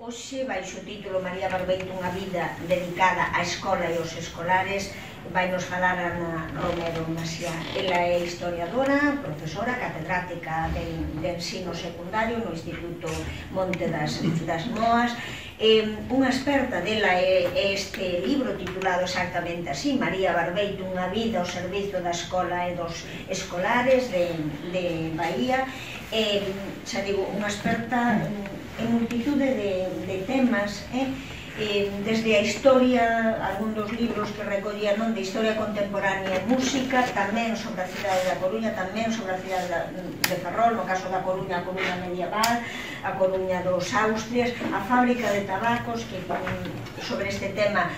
Hoxe, baixo o título María Barbeito, unha vida dedicada á escola e aos escolares, vai nos falar Ana Romero Maciá. Ela é historiadora, profesora, catedrática de ensino secundario no Instituto Monte das Moas. Unha experta dela é este libro titulado exactamente así, María Barbeito, unha vida ao servizo da escola e dos escolares de Bahía. Xa digo, unha experta en multitude de temas, desde a historia, algún dos libros que recollía, non, de historia contemporánea e música, tamén sobre a cidade da Coruña, tamén sobre a cidade de Ferrol, no caso da Coruña, a Coruña medieval, a Coruña dos Austrias, a fábrica de tabacos, que sobre este tema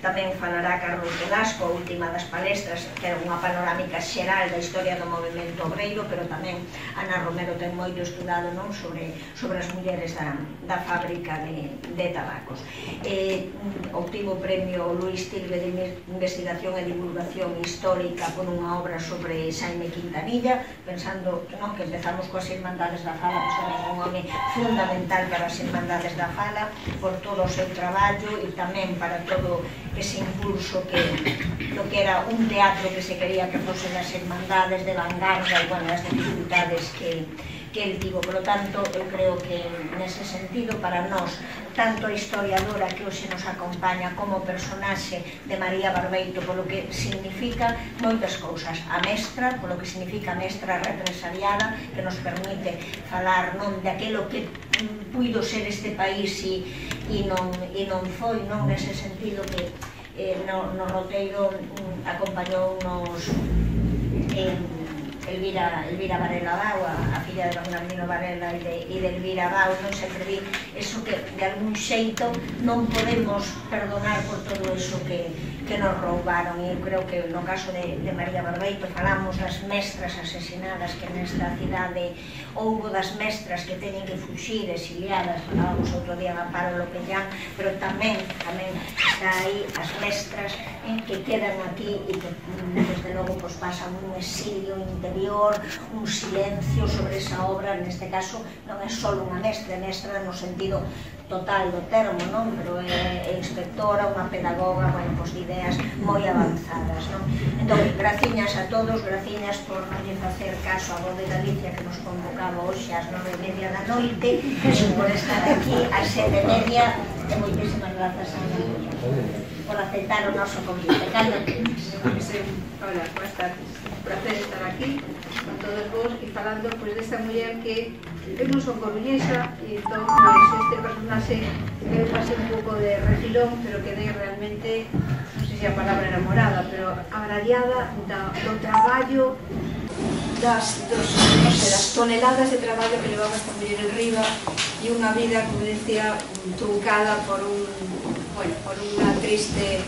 tamén falará Carlos Velasco, a última das palestras, que era unha panorámica xeral da historia do movimento obreiro, pero tamén Ana Romero ten moito estudado, non, sobre as mulleres da fábrica de tabacos. Obtivo o premio Luis Tilbe de Investigación e Divulgación Histórica por unha obra sobre Xaime Quintanilla, pensando que empezamos coas Irmandades da Fala, pois tamén un home fundamental para as Irmandades da Fala, por todo o seu traballo e tamén para todo ese impulso do que era un teatro que se quería que fosen as Irmandades de vanguarda e, bueno, as dificultades que el tivo. Por lo tanto, eu creo que nese sentido, para nós, tanto a historiadora que hoxe nos acompaña como o personaxe de María Barbeito, polo que significa moitas cousas. A mestra, polo que significa a mestra represaliada, que nos permite falar, non, de aquilo que puido ser este país e non foi, non, nese sentido que no roteiro acompañounos Elvira Varela Bau, a filla de Bernardino Varela e de Elvira Bau. Non sempre di eso que de algún xeito non podemos perdonar por todo eso que nos roubaron, e eu creo que no caso de María Barbeito falamos das mestras asesinadas que nesta cidade houbo, das mestras que teñen que fuxir, exiliadas, falábamos outro día da Amparo Lopellán, pero tamén está aí as mestras que quedan aquí e que desde logo pasan un exilio interior, un silencio sobre esa obra. Neste caso non é só unha mestra no sentido total do termo, non? Pero é inspectora, unha pedagoga, bueno, pois de ideas moi avanzadas, non? Entón, graciñas a todos, graciñas por non lle facer caso a Voz de Galicia que nos convocaba hoxe ás 9:30 da noite, por estar aquí ás 7:30, e moitísimas grazas a Ana por aceptar o noso convite. Carlos. Hola, buenas tardes. Un placer estar aquí con todos vos e falando desta muller que eu non son coruñesa e entón este personaxe me pasé un pouco de refilón, pero quedei realmente, non sei se a palabra era morada, pero agraciada do traballo, das toneladas de traballo que levaba esta muller en riba e unha vida, como decía, truncada por unha triste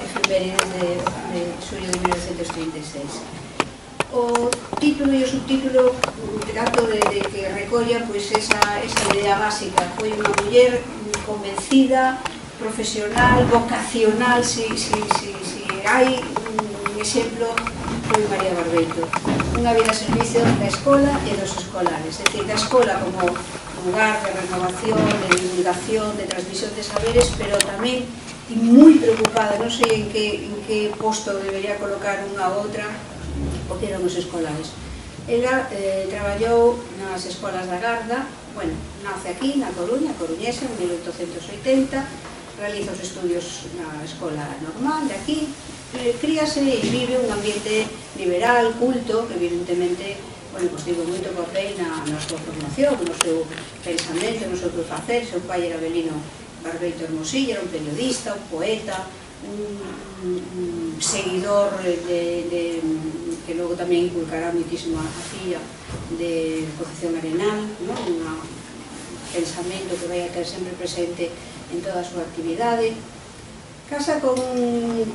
efemérides de xullo de 1936. O título e o subtítulo trato de que recolla esa idea básica. Foi unha muller convencida, profesional, vocacional. Se hai un exemplo, foi María Barbeito. Unha vida a servicio da escola e dos escolares, é dicir, da escola como lugar de renovación, de divulgación, de transmisión de saberes, pero tamén moi preocupada, non sei en que posto debería colocar unha ou outra, o que eran os escolares. Ela traballou nas escolas da Garda, nace aquí, na Coruña, coruñesa, en 1880, realiza os estudios na escola normal de aquí, críase e vive un ambiente liberal, culto, que evidentemente tivo moito papel na súa formación, no seu pensamento, no seu facer. Seu pai era Belino Barbeito Hermosilla, era un periodista, un poeta, un seguidor que logo tamén inculcará moitísimo a filla de Concepción Arenal, un pensamento que vai a ter sempre presente en toda a súa actividade. Casa con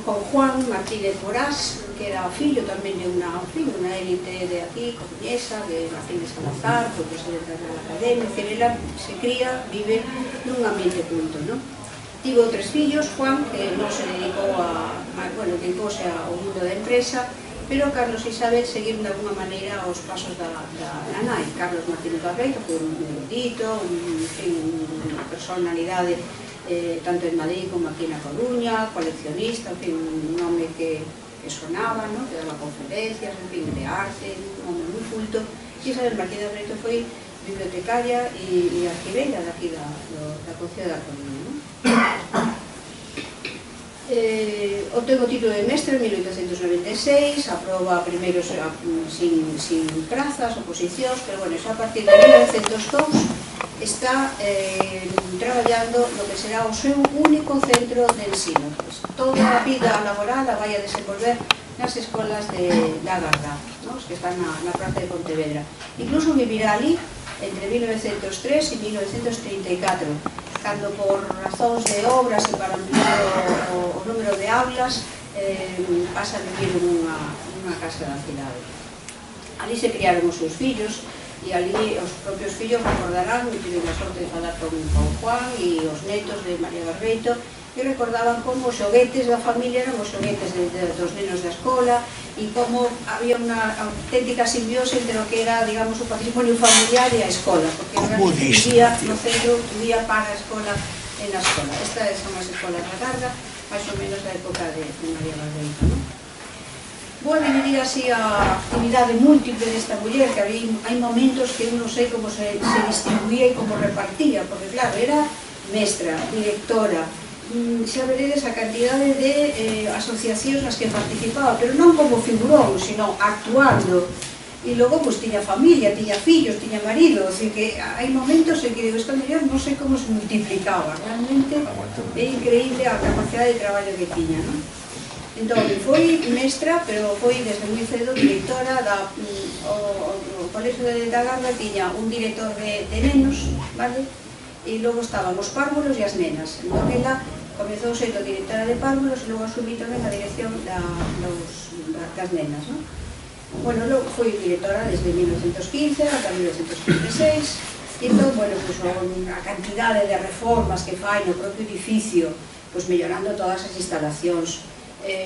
Juan Martínez Borás, que era o fillo tamén de unha élite de aquí, coruñesa, de Martínez Salazar, profesor de la Academia. Ela se cría, vive nun ambiente culto, non? Tivo 3 fillos, Juan, que non se dedicouse ao mundo da empresa, pero Carlos e Isabel seguiron de alguna maneira os pasos da nai. Carlos Martínez Barbeito foi un erudito, unha personalidade tanto en Madrid como aquí na Coruña, coleccionista, en fin, un home que sonaba, que daba conferencias, en fin, de arte, un home moi culto. E Isabel Martínez Barbeito foi bibliotecaria e arquiveira daqui da Concello da Coruña. Obtén o título de mestre en 1896, aproba primeiro sin prazas, oposicións, pero bueno, xa a partir de 1902 está traballando no que será o seu único centro de ensino. Toda a vida laboral a vai a desenvolver nas escolas da Garda, que están na praza de Pontevedra. Incluso vivirá ali entre 1903 e 1934, cando por razóns de obras e para ampliar o número de aulas pasa a vivir nunha casa da cidade. Ali se criaron os seus fillos, e ali os propios fillos recordarán, e tiven a sorte de falar con Juan e os netos de María Barbeito, e recordaban como os xoguetes da familia eran os xoguetes dos nenos da escola, e como había unha auténtica simbiose entre o que era, digamos, o patrimonio familiar e a escola, porque vivía no centro, vivía para a escola e na escola. Estas son as escolas da Garda, máis ou menos da época de María Barbeito, non? Vou dividir así a actividade múltiple desta muller, que hai momentos que eu non sei como se distribuía e como repartía, porque claro, era mestra, directora, xa veredes a cantidade de asociacións nas que participaba, pero non como figurón, sino actuando. E logo, pois, tiña familia, tiña fillos, tiña marido, así que hai momentos en que digo, esta muller non sei como se multiplicaba, realmente é increíble a capacidade de traballo que tiña, non? Entón, foi mestra, pero foi desde moi cedo directora o Colexio da Garda, tiña un director de nenos, vale? E logo estaban os párvulos e as nenas. Entón, ela comezou sendo directora de párvulos e logo asumí tamén a dirección das nenas, non? Bueno, logo foi directora desde 1915 ata 1936, e entón, bueno, pues, a cantidade de reformas que fai no propio edificio, pues, mellorando todas as instalacións,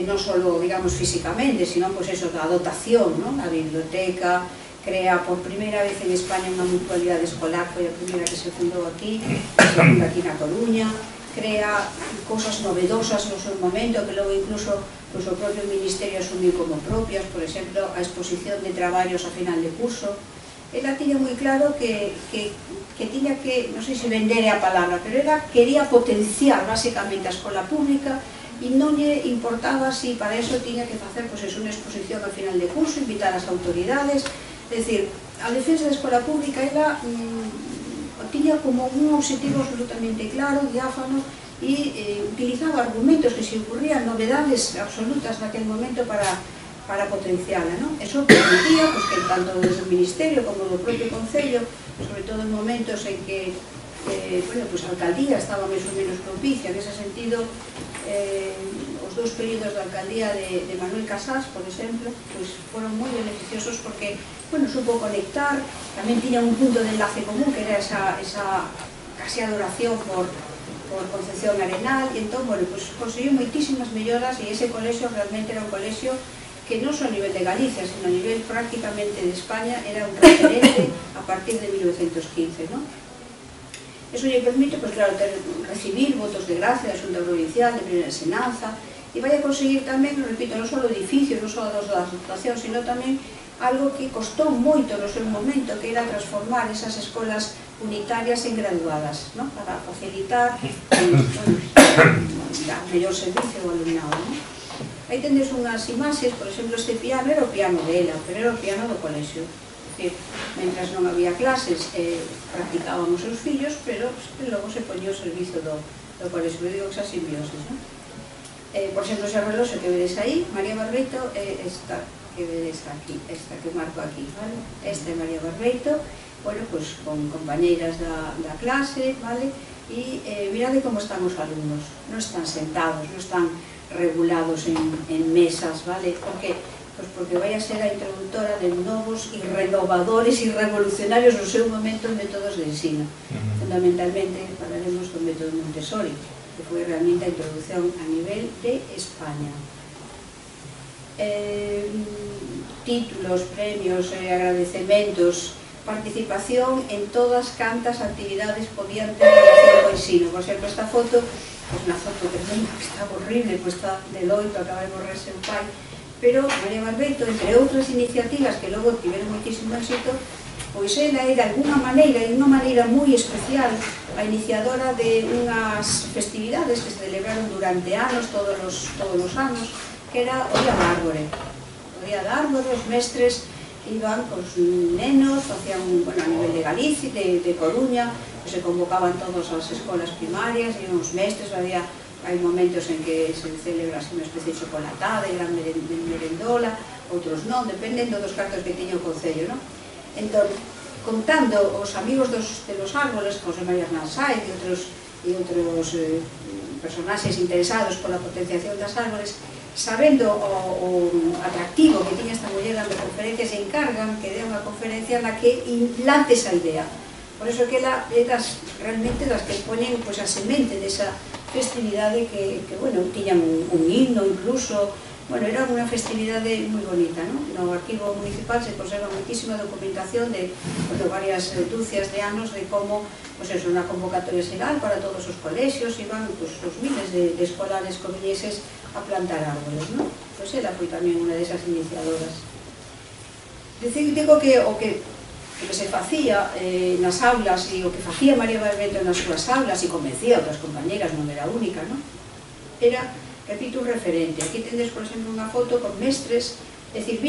non só, digamos, físicamente, sino, pues, eso, da dotación, a biblioteca, crea por primeira vez en España unha mutualidade escolar, foi a primeira que se fundou aquí, aquí na Coruña, crea cosas novedosas no seu momento, que logo incluso o propio Ministerio asumiu como propias, por exemplo, a exposición de traballos a final de curso. Ela tiña moi claro que tiña que, non sei se vender é a palabra, pero ela quería potenciar basicamente a escola pública e non lle importaba si para eso tiña que facer unha exposición ao final de curso, invitar as autoridades, é dicir, a defensa da escola pública ela tiña como un objetivo absolutamente claro, diáfano, e utilizaba argumentos que se ocurrían, novedades absolutas naquele momento para potenciala, non? Eso permitía que tanto desde o Ministerio como do propio Concello, sobre todo en momentos en que a alcaldía estaba máis ou menos propicia, en ese sentido, os dous períodos da alcaldía de Manuel Casas, por exemplo, foron moi beneficiosos porque, supo conectar, tamén tiña un punto de enlace común, que era esa casi adoración por Concepción Arenal, e entón, conseguiu moitísimas melloras, e ese colexio realmente era un colexio que non só a nivel de Galicia, sino a nivel prácticamente de España, era un referente a partir de 1915, non? Eso lle permite, claro, recibir votos de gracia da Xunta Provincial, de Primeira Ensinanza, e vai a conseguir tamén, repito, non só o edificio, non só das dotacións, sino tamén algo que costou moito no seu momento, que era transformar esas escolas unitarias en graduadas, para facilitar dar mellor servicio ao alumnado. Aí tendes unhas imaxes, por exemplo, este piano era o piano dela, pero era o piano do colexio. Mentras non había clases, practicaban os seus fillos, pero logo se poñía o servizo do colexio, digo que xa simbiosis. Por exemplo, ese reloxo que vedes aí, María Barbeito, esta que vedes aquí, esta que marco aquí, esta é María Barbeito, con compañeiras da clase, e mirade como están os alumnos, non están sentados, non están regulados en mesas, porque vai a ser a introductora de novos e renovadores e revolucionarios no seu momento en métodos de ensino. Fundamentalmente falaremos do método Montessori, que foi realmente a introducción a nivel de España. títulos, premios, agradecementos, participación en todas cantas actividades podían ter relación co ensino. Por exemplo, esta foto, pues unha foto tremenda, que está horrible, pues está de loito, acaba de morrer seu pai, pero María Barbeito, entre outras iniciativas que logo tiveron moitísimo éxito, pois ela é de alguna maneira, e unha maneira moi especial, a iniciadora de unhas festividades que se celebraron durante anos, todos os anos, que era o Día da Árbore. O Día da Árbore, os mestres iban cos nenos, facían, bueno, a nivel de Galicia, de Coruña, se convocaban todas as escolas primarias, e os mestres, hai momentos en que se celebra unha especie de chocolatada, e gran merendola, outros non, dependendo dos cartos que tiña o Concello, non? Entón, contando os amigos de los árboles, José María Hernán Sáez e outros personaxes interesados pola potenciación das árboles, sabendo o atractivo que tiña esta muller dando conferencias, se encargan que dé unha conferencia na que implante esa idea. Por iso que ela é realmente das que poñen a semente desa festividade que bueno, tiñan un himno incluso. Bueno, era unha festividade moi bonita, non? No arquivo municipal se conserva moitísima documentación de varias dúcias de anos de como, pois eso, unha convocatoria xeral para todos os colexios, iban os miles de escolares coruñeses a plantar árboles, non? Pois ela foi tamén unha desas iniciadoras. Digo que o que se facía nas aulas e o que facía María Barbeito nas súas aulas e convencía outras compañeras, non era única, non? Era, repito, un referente. Aquí tendes, por exemplo, unha foto con mestres, é dicir,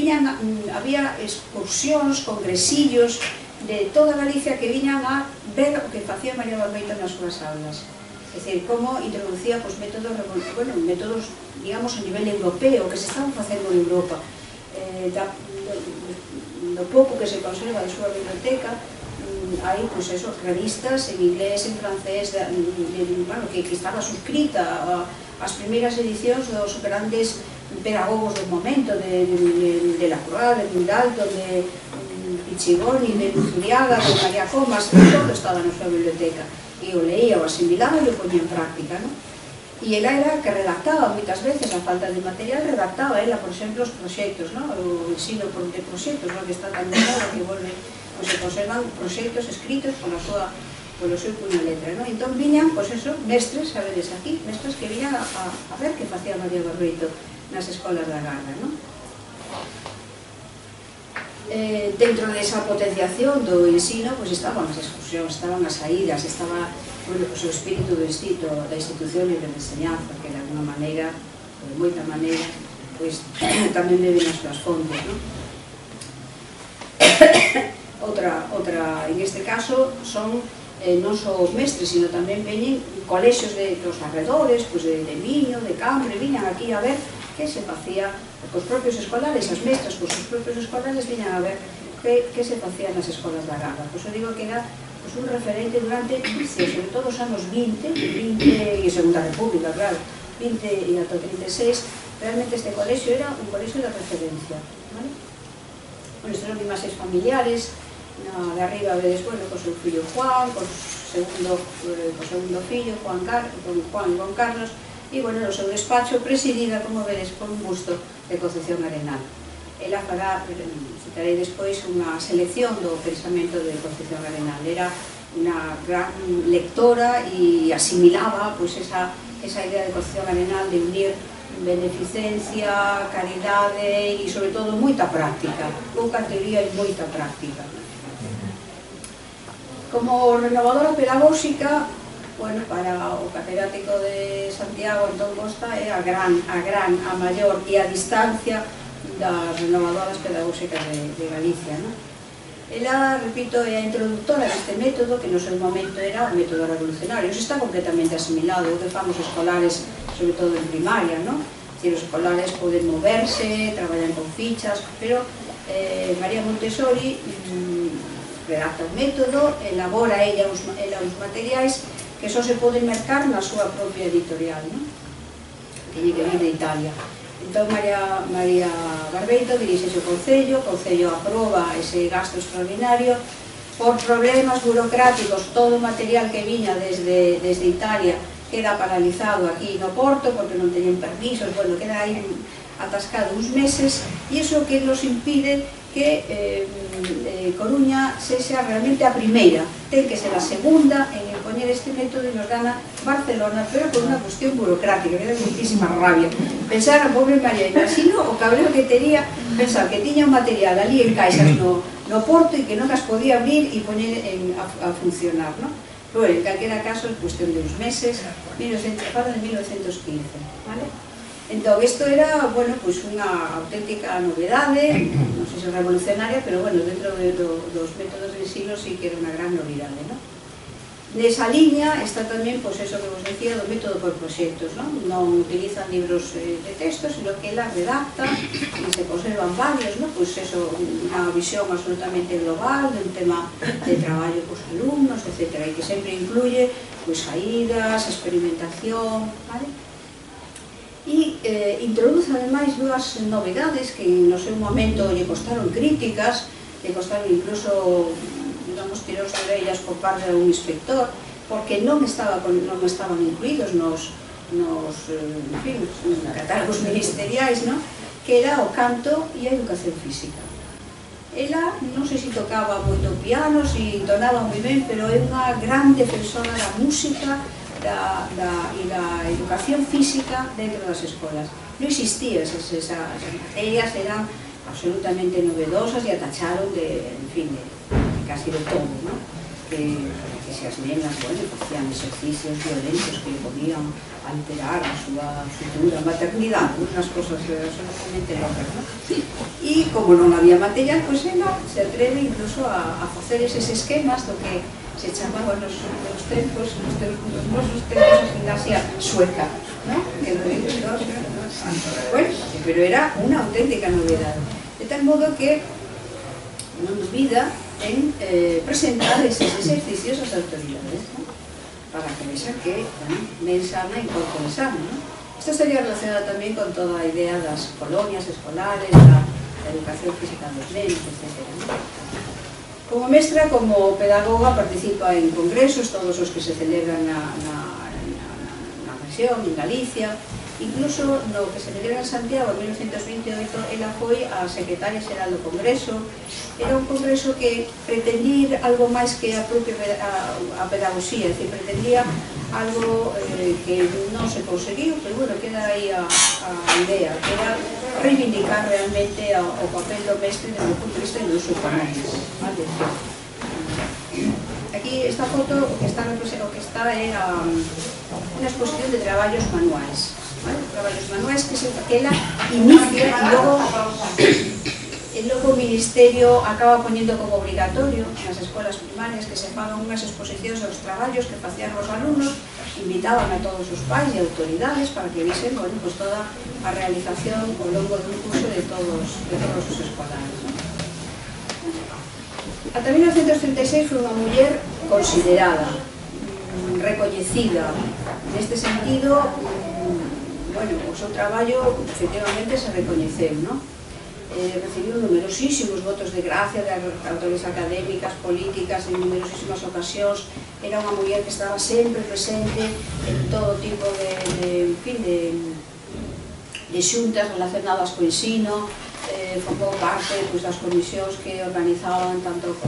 había excursións, congresillos de toda Galicia que viñan a ver o que facía María Barbeito nas súas aulas. É dicir, como introducía métodos, digamos, a nivel europeo, que se estaban facendo en Europa. Do pouco que se conserva de súa biblioteca, hai, pois eso, revistas en inglés, en francés, que estaba suscrita as primeiras edicións dos grandes pedagogos do momento, de Lacroix, de Mundalto, de Pichigoni, de Luzuriaga, de María Comas, todo estaba na súa biblioteca. E o leía, o asimilaba e o ponía en práctica, non? E ela era que redactaba moitas veces, a falta de material, redactaba ela, por exemplo, os proxectos, non? O ensino de proxectos, non? Que está tan de moda, que volve, pois se conservan proxectos escritos polo seu puño e letra, non? Entón viñan, pois eso, mestres, sabedes aquí, mestres que viñan a ver que facía María Barbeito nas escolas da Garda, non? Dentro desa potenciación do ensino, pois estaban as excursións, estaban as saídas, estaba o espírito da institución libre de enseñanza, que de alguna maneira, de moita maneira, pois tamén beben as súas fontes, non? Outra, en este caso, son non só os mestres, sino tamén veñen colexios dos arredores, de Miño, de Cambre, viñan aquí a ver que se facía cos propios escolares, as mestras cos seus propios escolares viñan a ver que se facía nas escolas da Garda. Pois eu digo que era un referente durante, sobre todo os anos 20 e Segunda República, claro, 20 e ata 36, realmente este colexio era un colexio de referencia, vale? Bueno, estes son imaxes familiares, de arriba vedes, bueno, co seu fillo Juan, co segundo fillo, Juan e Juan Carlos, e, bueno, no seu despacho presidida, como vedes, por un busto de Concepción Arenal. Ela fará, citarei despois, unha selección do pensamento de Concepción Arenal. Era unha gran lectora e asimilaba esa idea de Concepción Arenal de unir beneficencia, caridade e, sobre todo, moita práctica. Pouca teoría e moita práctica. Como renovadora pedagóxica, bueno, para o catedrático de Santiago, Antón Costa, é a maior e a distancia das renovadoras pedagóxicas de Galicia, non? Ela, repito, é a introductora deste método, que no seu momento era un método revolucionario. Iso está completamente asimilado, o que famos escolares, sobre todo en primaria, non? Os escolares poden moverse, traballan con fichas, pero María Montessori redacta un método, elabora ela os materiais que só se poden mercar na súa propia editorial, non? Teñe que vir de Italia. Entón, María Barbeito dirixese ao Concello, o Concello aproba ese gasto extraordinario. Por problemas burocráticos, todo o material que viña desde Italia queda paralizado aquí no Porto, porque non teñen permisos, bueno, queda aí atascado uns meses, e iso que nos impide que Coruña sexa realmente a primeira. Ten que ser a segunda en impoñer este método e nos gana Barcelona, pero por unha cuestión burocrática, que era muitísima rabia. Pensar a pobre María, imagino o cabreo que tería pensar que tiña un material ali en caixas no porto e que non as podía abrir e poñer a funcionar, non? Pero, en calquera caso, é cuestión de uns meses, fala de 1915, vale? Entón, isto era, bueno, pois unha auténtica novedade, non sei se revolucionaria, pero, bueno, dentro dos métodos de ensino sí que era unha gran novidade, non? Nesa liña está tamén, pois, eso que vos decía, do método por proxectos, non? Non utilizan libros de texto, sino que ela redacta e se conservan varios, non? Pois, eso, unha visión absolutamente global dun tema de traballo cos alumnos, etc. E que sempre incluye, pois, saídas, experimentación, vale? E introduce ademais dúas novedades que no seu momento lle costaron críticas, lle costaron incluso, digamos, tiros de orellas por parte de un inspector, porque non estaban incluídos nos catálogos ministeriais, que era o canto e a educación física. Ela non sei se tocaba moito piano, se entonaba moi ben, pero é unha gran defensora da música e da educación física dentro das escolas. Non existían esas materias, eran absolutamente novedosas e atacharon de casi de todo, ¿no? Que se as nenas, bueno, facían exercicios violentos que podían alterar a súa futura maternidade, unhas cosas absolutamente locas, ¿no? E como non había material, pois ela se atreve incluso a facer eses esquemas do que se chamaban nos nosos tempos a gimnasia sueca, ¿no? Bueno, pero era unha auténtica novedade. De tal modo que non dubida en presentar eses exercicios ás autoridades, ¿no? Para que vexan que ben sana e corpo sano, ¿no? Isto estaría relacionado tamén con toda a idea das colonias escolares, da educación física dos nenos, etc. Como mestra, como pedagoga, participa en congresos, todos os que se celebran na rexión, en Galicia. Incluso no que se celebra en Santiago en 1928, ela foi a secretaria xeral do Congreso. Era un congreso que pretendía ir algo máis que a propia pedagogía, é dicir, pretendía algo que non se conseguiu, pero bueno, queda aí a idea, que era reivindicar realmente o papel do mestre desde o punto de vista do uso económico. Aquí esta foto, o que está é unha exposición de traballos manuais. Traballos manuais que ela inicia e logo o Ministerio acaba poñendo como obrigatorio nas escolas primarias que se fagan unhas exposicións aos traballos que facían os alumnos, invitaban a todos os pais e autoridades para que visen, bueno, pues toda a realización ao longo dun curso de todos os escolares, ¿no? Ata 1936 foi unha muller considerada, recoñecida. Neste sentido, bueno, o seu traballo efectivamente se recoñeceu, ¿no? Recibiu numerosísimos votos de gracia de autores académicas, políticas, en numerosísimas ocasións. Era unha muller que estaba sempre presente en todo tipo de xuntas relacionadas co ensino, formou parte das comisións que organizaban tanto os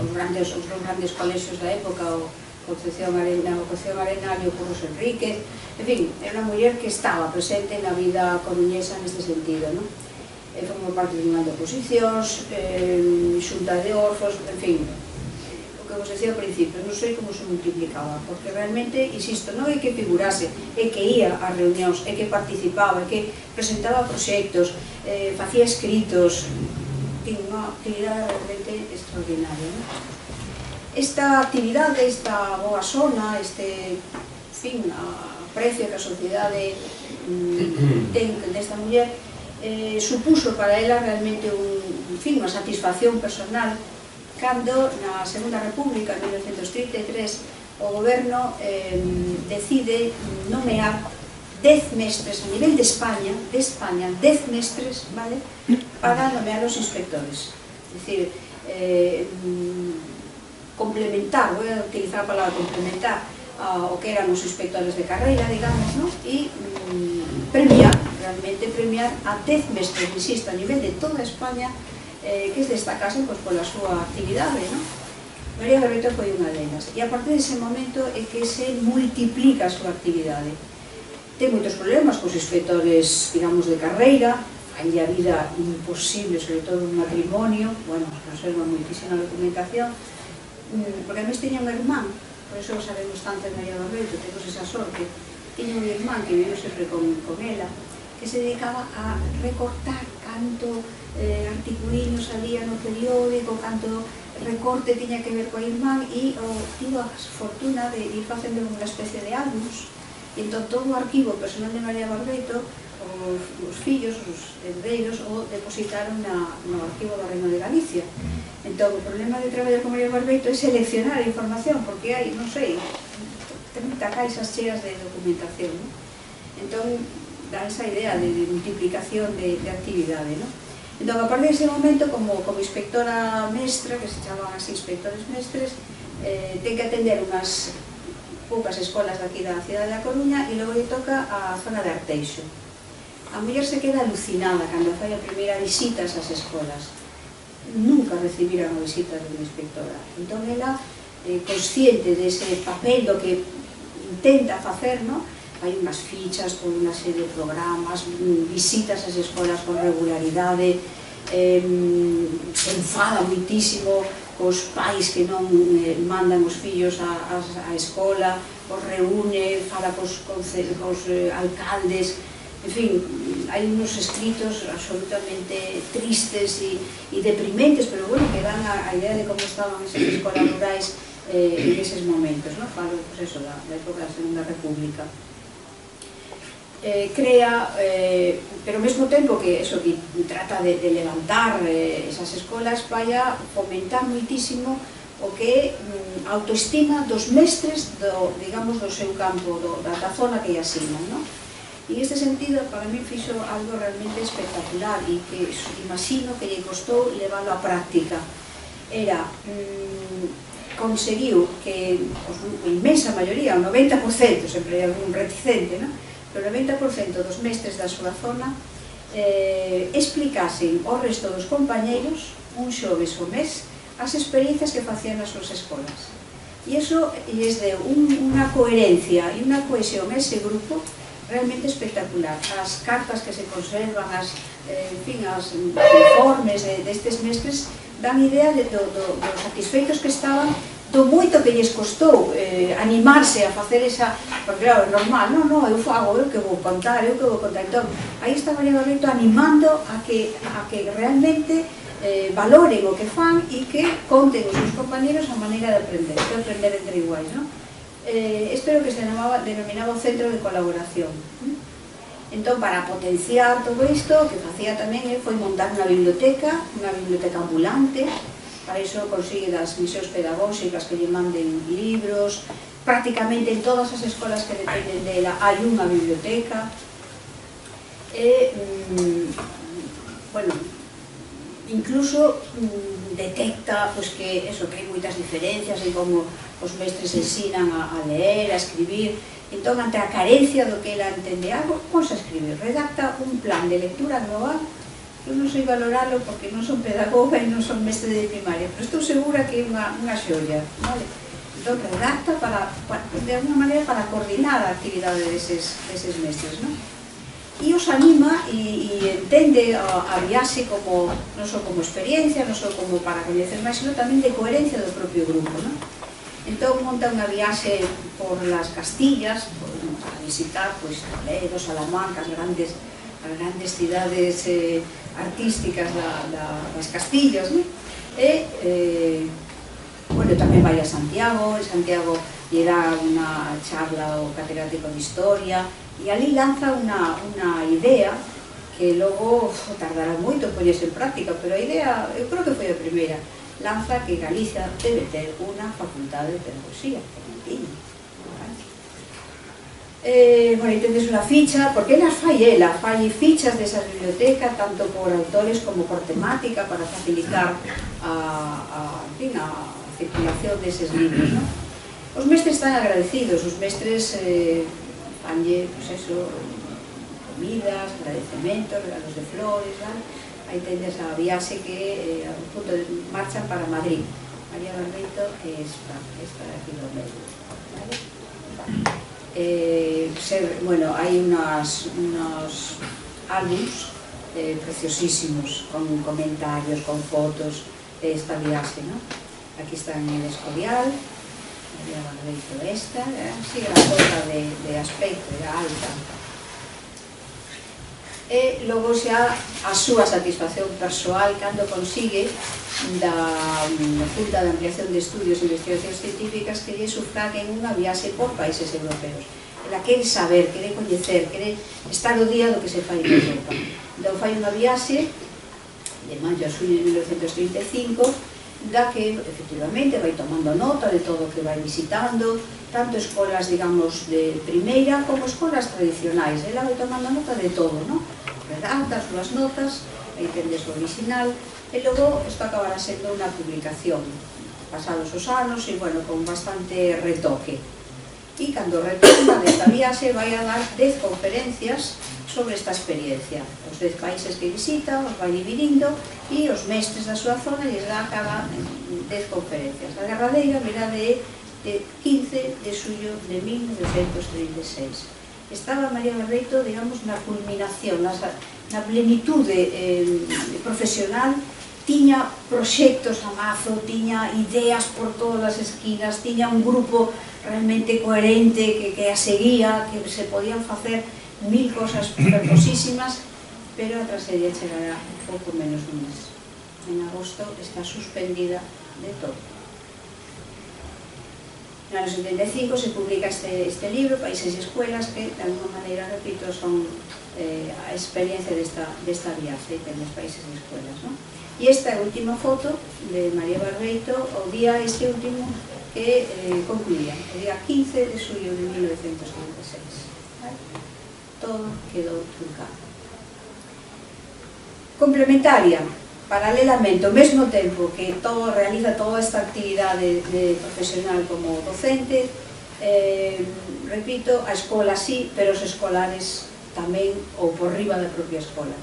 dos grandes colexios da época, o Concepción Arenal e o Curros Enríquez. En fin, era unha muller que estaba presente na vida coruñesa neste sentido, non? Formou parte de unha de oposicións, xunta de orfos, en fin, o que vos decía ao principio, non sei como se multiplicaba, porque realmente, insisto, non é que figurase, é que ia ás reunións, é que participaba, é que presentaba proxectos, facía escritos, en unha actividade realmente extraordinaria, non? Esta actividade, esta boa sona, este, en fin, aprecio que a sociedade ten desta muller, supuso para ela realmente unha satisfacción personal cando na Segunda República, en 1933, o goberno decide nomear 10 mestres a nivel de España, 10 mestres, vale, para nomear os inspectores. É dicir, complementar, voy a utilizar a palabra complementar o que eran os inspectores de carreira, digamos, ¿no? E premiar realmente premiar a 10 mestres, insisto, a nivel de toda España, que es destacasen pola súa actividade, non? María Barbeito foi unha delas, e a partir dese momento é que se multiplica a súa actividade. Ten moitos problemas cos inspectores, digamos, de carreira, hai a vida imposible, sobre todo un matrimonio, bueno, conserva moitísima documentación, porque a mes tiña un irmán, por eso sabemos tanto de María Barbeito, temos esa sorte, tiña un irmán que viveu sempre con ela, que se dedicaba a recortar canto articuliños salía no periódico, canto recorte tiña que ver coa irmán, e tivo a fortuna de ir facendo unha especie de álbums, e entón todo o arquivo personal de María Barbeito, os fillos, os herdeiros, o depositaron no arquivo do Reino de Galicia. Entón, o problema de traballar con María Barbeito é seleccionar a información, porque hai, non sei, 30 caixas cheas de documentación, non? Entón, dá esa idea de multiplicación de actividade, non? Entón, a partir dese momento, como inspectora mestra, que se chaman así inspectores mestres, ten que atender unhas poucas escolas daqui da cidade da Coruña e logo lle toca a zona de Arteixo. A muller se queda alucinada cando fai a primeira visita a esas escolas. Nunca recibira unha visita de unha inspectora. Entón, ela, consciente dese papel do que intenta facer, non? Hai unhas fichas con unha serie de programas, visitas ás escolas con regularidade, se enfada moitísimo cos pais que non mandan os fillos á escola, os reúne, fala cos alcaldes, en fin, hai unos escritos absolutamente tristes e deprimentes, pero bueno, que dan a idea de como estaban esas escolas rurais en eses momentos, non? Falo, pues eso, da época da Segunda República. Crea, pero ao mesmo tempo que eso, que trata de levantar esas escolas, vai a fomentar moitísimo o que é autoestima dos mestres, digamos, do seu campo, da zona que lle asinan, non? E neste sentido, para mí, fixo algo realmente espectacular e que imagino que lle costou leválo á práctica. Era, conseguiu que a inmensa maioría, o 90%, sempre hai algún reticente, non? Pero o 90% dos mestres da súa zona explicasen ao resto dos compañeiros, un xoves o mes, as experiencias que facían nas súas escolas. E iso lles deu unha coherencia e unha cohesión a ese grupo realmente espectacular. As cartas que se conservan, os informes destes mestres dan idea dos satisfeitos que estaban, do moito que lles costou animarse a facer esa, porque claro, é normal, non, eu fago, eu que vou contar, entón, aí está María Barbeito animando a que realmente valoren o que fan e que conten os seus compañeros a maneira de aprender entre iguais, non? Espero que se denominaba o centro de colaboración. Entón, para potenciar todo isto, o que facía tamén foi montar unha biblioteca ambulante. Para iso consigue das misións pedagóxicas que lle manden libros. Prácticamente en todas as escolas que dependen dela hai unha biblioteca. Bueno, incluso detecta que hai moitas diferencias en como os mestres ensinan a ler, a escribir. Entón, ante a carencia do que ela entende algo, ponse a escribir, redacta un plan de lectura global. Eu non sei valoralo porque non son pedagoga e non son mestre de primaria, pero estou segura que é unha xoia, vale? Entón, redacta de alguna maneira para coordinar a actividade deses mestres, non? E os anima e entende a viaxe como, non só como experiencia, non só como para coñecer máis, sino tamén de coherencia do propio grupo, non? Entón, monta unha viaxe por las Castillas, a visitar Toledo, Salamanca, as grandes cidades artísticas das Castillas, e tamén vai a Santiago, lle dá unha charla ao catedrático de Historia, e ali lanza unha idea que logo tardará moito en poñerse en práctica, pero a idea, eu creo que foi a primeira, lanza que Galicia debe ter unha facultade de pedagogía, que non tiña. Bueno, tendes unha ficha, porque ela fai fichas desas bibliotecas, tanto por autores como por temática, para facilitar a circulación deses libros, non? Os mestres están agradecidos, os mestres fanlle, comidas, agradecementos, regalos de flores, aí tendes a viaxe que a punto de marchan para Madrid. María Barbeito é esta de aquí do medio, vale? Bueno, hai unos álbums preciosísimos, con comentarios, con fotos de esta viaxe, ¿no? Aquí está en el Escorial, María Barbeito esta, así era cosa de aspecto, era alta. E logo xa a súa satisfacción persoal cando consigue da Junta de Ampliación de Estudios e Investigacións Científicas que lle sufraguen unha viaxe por países europeos. Ela quere saber, quere coñecer, quere estar o día do que se fai en Europa. Entón fai unha viaxe de maio a xullo de 1935 da que, efectivamente, vai tomando nota de todo o que vai visitando, tanto escolas, digamos, de primeira como escolas tradicionais. Ela vai tomando nota de todo, non? Redacta as súas notas, aí tendes o original, e logo isto acabará sendo unha publicación pasados os anos e, bueno, con bastante retoque. E cando retorna desta viaxe vai a dar 10 conferencias sobre esta experiencia. Os 10 países que visita os vai dividindo e os mestres da súa zona lles dá cada 10 conferencias. A derradeira virá de 15 de xullo de 1936. Estaba María Barbeito, digamos, na culminación, na plenitude profesional, tiña proxectos a mazo, tiña ideas por todas as esquinas, tiña un grupo realmente coherente que a seguía, que se podían facer 1000 cosas fermosísimas, pero a tragedia chegará pouco menos dun mes. En agosto está suspendida de todo. No ano 75 se publica este libro, Países e Escuelas, que de alguma maneira, repito, son a experiencia desta viaxe en los países e escuelas, ¿no? E esta é a última foto de María Barbeito, o día este último que concluía, o día 15 de xullo de 1996. ¿Vale? Todo quedou truncado. Complementaria, paralelamente, ao mesmo tempo que realiza toda esta actividade profesional como docente, repito, a escola sí, pero os escolares tamén ou por riba da propia escola.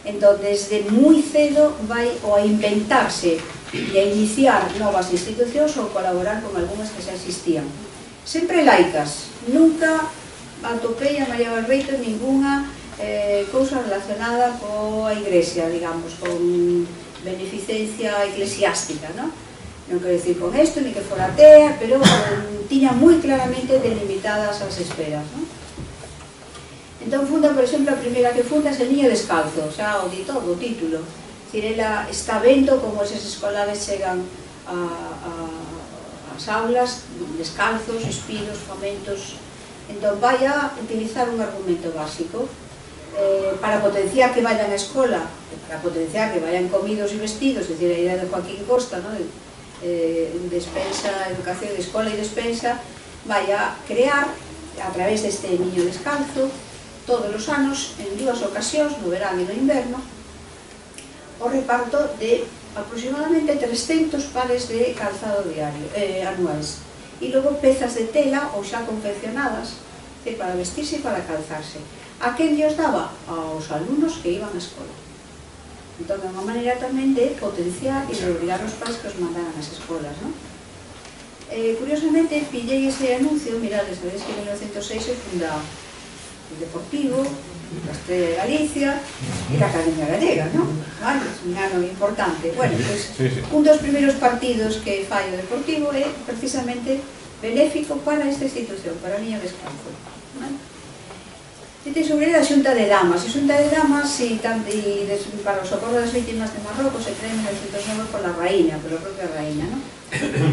Entón, desde moi cedo vai ou a inventarse e a iniciar novas institucións ou colaborar con algunhas que xa existían. Sempre laicas, nunca atopei a María Barbeito ninguna cousa relacionada coa Iglesia, digamos, con beneficencia eclesiástica, non? Non quero dicir con isto, ni que fora atea, pero tiña moi claramente delimitadas as esferas, non? Entón funda, por exemplo, a primeira que funda é el Niño Descalzo, xa o di todo, o título. Ela está vendo como eses escolares chegan ás aulas descalzos, espidos, famentos. Entón vai a utilizar un argumento básico para potenciar que vayan á escola, para potenciar que vayan comidos e vestidos, é dicir, a idea de Joaquín Costa, despensa, educación de escola e despensa, vai a crear, a través deste Niño Descalzo, todos os anos, en 2 ocasións, no verano e no inverno, o reparto de aproximadamente 300 pares de calzado diario, anuais. E logo pezas de tela ou xa confeccionadas para vestirse e para calzarse. A quen os daba? Aos alumnos que iban á escola. Entón, é unha maneira tamén de potenciar e de obrigar os pais que os mandaran ás escolas, non? Curiosamente, pillei ese anuncio, mirades, sabedes que en 1906 se funda o Deportivo, a Estrella de Galicia e a Academia Gallega, non? Vale, un ano importante. Bueno, pois, un dos primeiros partidos que fai o Deportivo é precisamente benéfico para esta institución, para o Niño Descalzo. Este sobre a Xunta de Damas. A Xunta de Damas, para o socorro das vítimas de Marrocos, se crea en 1909 pola raíña, pola propia raíña, non?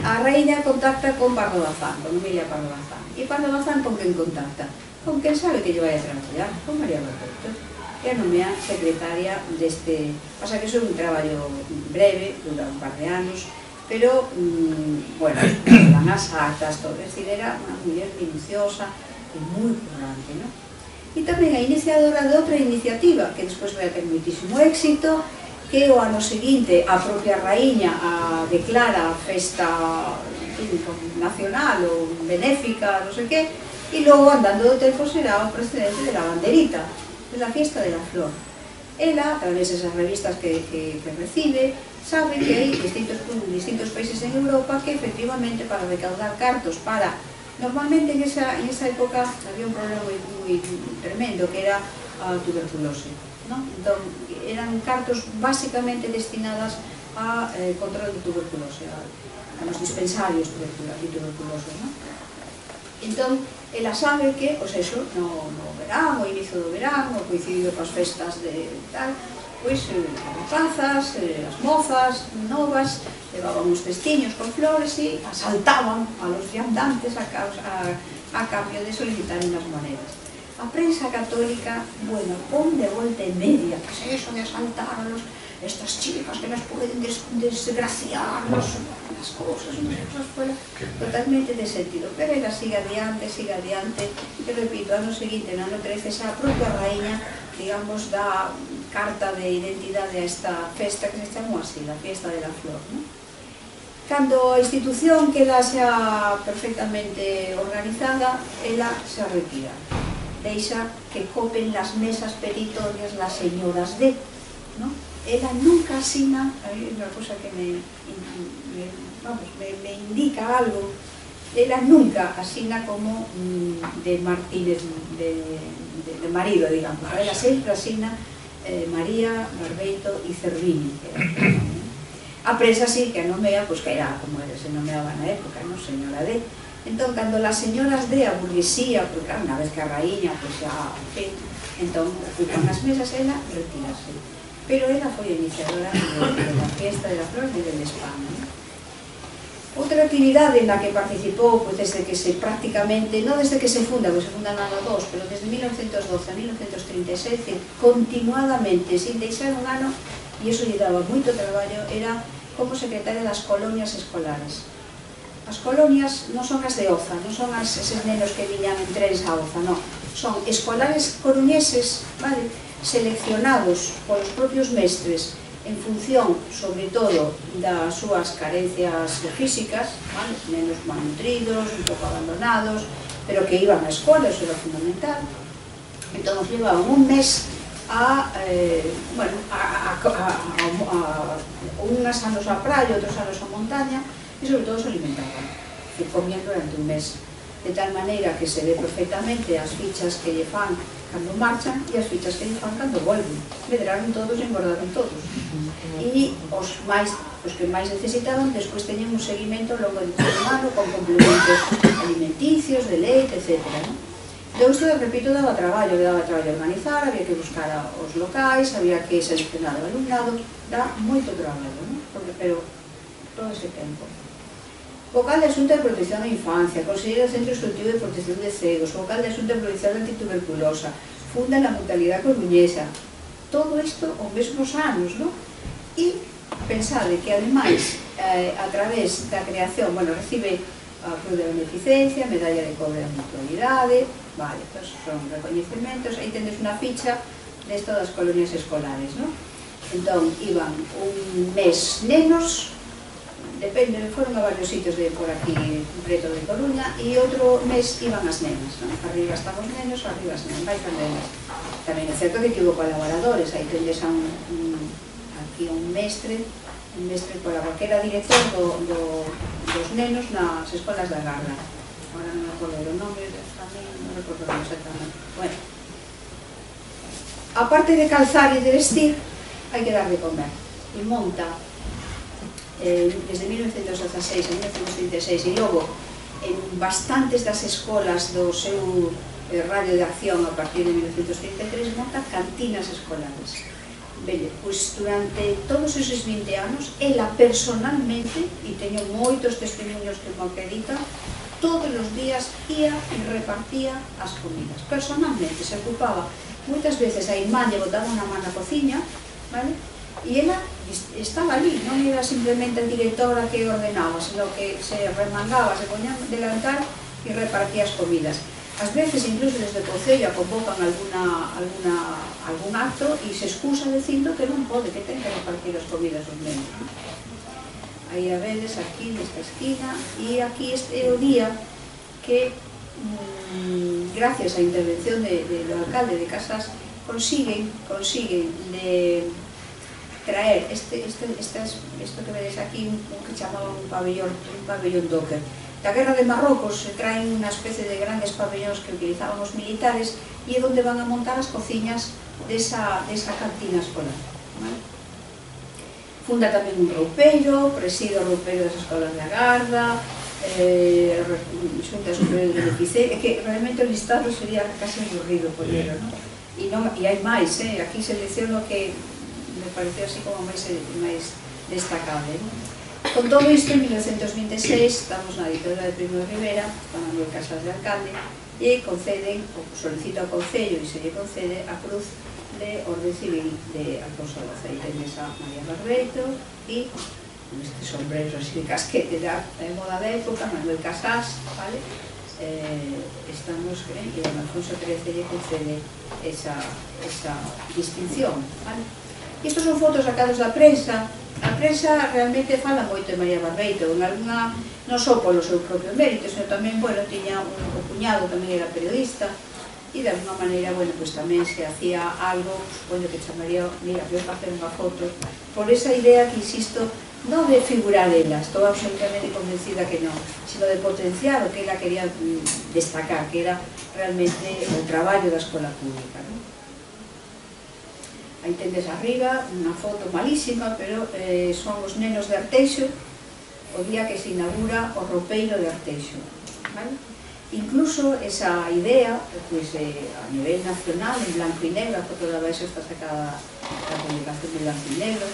A raíña contacta con Pardo Bazán, con Emilia Pardo Bazán. E Pardo Bazán con quen contacta? Con quen sabe que lle vai a traballar, con María Barbeito, que a nomea secretaria deste... Pasa que iso é un traballo breve, dura un par de anos, pero, bueno, van as actas, todo, é dicir, era unha muller minuciosa e moi currante, non? E tamén a iniciadora de outra iniciativa, que despois vai a ter moitísimo éxito, que o ano seguinte a propia raíña declara a festa nacional ou benéfica, non sei que, e logo, andando do tempo, será o precedente de la banderita. la fiesta de la flor. Ela, a través desas revistas que recibe, sabe que hai distintos países en Europa que efectivamente para recaudar cartos para... Normalmente en esa época había un problema moi tremendo que era a tuberculose, ¿no? Entón, eran cartos basicamente destinadas a control de tuberculose, a los dispensarios de tuberculose, ¿no? Entón, ela sabe que, pois eso, no verán, o inicio do verán, o coincidido coas festas de tal, pois as rapazas, as mozas novas, levaban uns cestiños con flores e asaltaban a los viandantes a cambio de solicitar unas monedas. A prensa católica, bueno, pon de volta e media, que es eso de asaltar a estas chicas que nos pueden desgraciar las cosas, totalmente de sentido. Pero ela sigue adiante, e repito, ano seguinte, no ano 13, xa a propia raíña, digamos, dá carta de identidade a esta festa que se chamou así, la fiesta de la flor, ¿no? Cando a institución queda xa perfectamente organizada, ela se retira, deixa que copen las mesas peritorias las señoras de, ¿no? Ela nunca asina, a mí é unha cosa que me indica algo, ela nunca asina como de Martínez, de marido, digamos, ela sempre asina María, Barbeito e Cervini, a prensa sí que a nomea, pois que era como se nomeaba na época, non, señora D. Entón, cando las señoras D, a burguesía, pois claro, unha vez que a raíña, pois xa, en fin, entón, ocupan as mesas, ela retirase. Pero ela foi iniciadora de la fiesta de la flor de España. Outra actividade na que participou desde que se prácticamente, non desde que se funda, porque se funda no ano 2, pero desde 1912 a 1937, continuadamente, sin deixar un ano, e iso lle daba moito traballo, era como secretaria das colonias escolares. As colonias non son as de Oza, non son eses nenos que viñan en trens a Oza, non. Son escolares coruñeses, vale, seleccionados polos propios mestres en función, sobre todo, das súas carencias físicas, vale, nenos malnutridos, un pouco abandonados, pero que iban á escola, eso era fundamental. Entón, nos levaban un mes unhas anos á praia, outros anos á montaña, e sobre todo se alimentaban, que comían durante un mes, de tal maneira que se ve perfectamente as fichas que lle fan cando marchan e as fichas que lle fan cando volven. Medraron todos e engordaron todos. E os que máis necesitaban, despois teñen un seguimento ao longo de todo o ano con complementos alimenticios, de leite, etc. Entón, isto, repito, daba traballo organizar, había que buscar os locais, había que seleccionar o alumnado, dá moito traballo, non? Pero todo ese tempo. Vocal de Asunto de Protección da Infancia, conselleiro do Centro Instructivo de Protección de Cegos, vocal de Asunto de Protección Antituberculosa, funda na Mutualidade Coruñesa. Todo isto aos mesmos anos, non? E pensade que, ademais, a través da creación, recibe a Cruz de Beneficencia, medalla de cobre da Mutualidade, vale, pues son recoñecementos, aí tendes unha ficha desto das colonias escolares, non? Entón, iban un mes nenos, depende, foron a varios sitios de por aquí, preto de Coruña, e outro mes iban as nenas, non? Arriba están os nenos, arriba as nenas, vai as nenas. Tamén é certo que tivo colaboradores, aí tendes aquí un mestre colaborador, que era director dos nenos nas escolas da Garda. Agora non me acordo o nome, non recordo exactamente. Bueno, aparte de calzar e de vestir, hai que dar de comer. E monta desde 1916 a 1936 e logo en bastantes das escolas do seu radio de acción a partir de 1933 monta cantinas escolares. Belle, pois durante todos esos 20 anos ela personalmente, e teño moitos testemunhos que mo acreditan, todos os días ia e repartía as comidas. Personalmente se ocupaba, moitas veces a irmán lle botaba unha man na cociña, vale? E ela estaba ali, non era simplemente a directora que ordenaba, sino que se remangaba, se poñía delantal e repartía as comidas. Ás veces, incluso desde o Concello, convocan algún acto e se excusa dicindo que non pode, que ten que repartir as comidas aos nenos. Aí a vedes, aquí, nesta esquina, e aquí é o día que, gracias á intervención do alcalde de Casas, consiguen de traer isto que vedes aquí, un que chamaban un pabellón Docker. Da guerra de Marrocos se traen unha especie de grandes pabellóns que utilizaban os militares e é onde van a montar as cociñas desa cantina escolar. Funda tamén un roupeiro, preside o roupeiro das escolas da Garda, xunta superior de beneficencia, que realmente o listado sería casi aburrido por ello, non? E hai máis, aquí selecciono que me pareceu así como máis destacable. Con todo isto, en 1926, estamos na ditadura de Primo de Rivera, con Manuel Casas de alcalde, e conceden, ou solicita ao Concello e se lle concede a cruz de Orde Civil de Alfonso XII. E tenes a María Barbeito e este sombrero así de casquete da moda da época, Manuel Casas, vale? Estamos, e a Alfonso XIII lle concede esa distinción, vale? Estos son fotos sacados da prensa. A prensa realmente fala moito de María Barbeito, en alguna, non só polo seu propio mérito, senón tamén, bueno, tiña un cuñado, tamén era periodista, e de alguna maneira, bueno, pues tamén se hacía algo, bueno, que chamaría, mira, voy a facer unha foto, por esa idea que, insisto, non de figurar ela, estou absolutamente convencida que non, sino de potenciar o que ela quería destacar, que era realmente o traballo da escola pública, non? Aí tendes arriba unha foto malísima, pero son os nenos de Arteixo, o día que se inaugura o roupeiro de Arteixo, vale? Incluso esa idea, pues, a nivel nacional, en blanco e negro, a foto de abaixo está sacada da publicación de blanco e negro,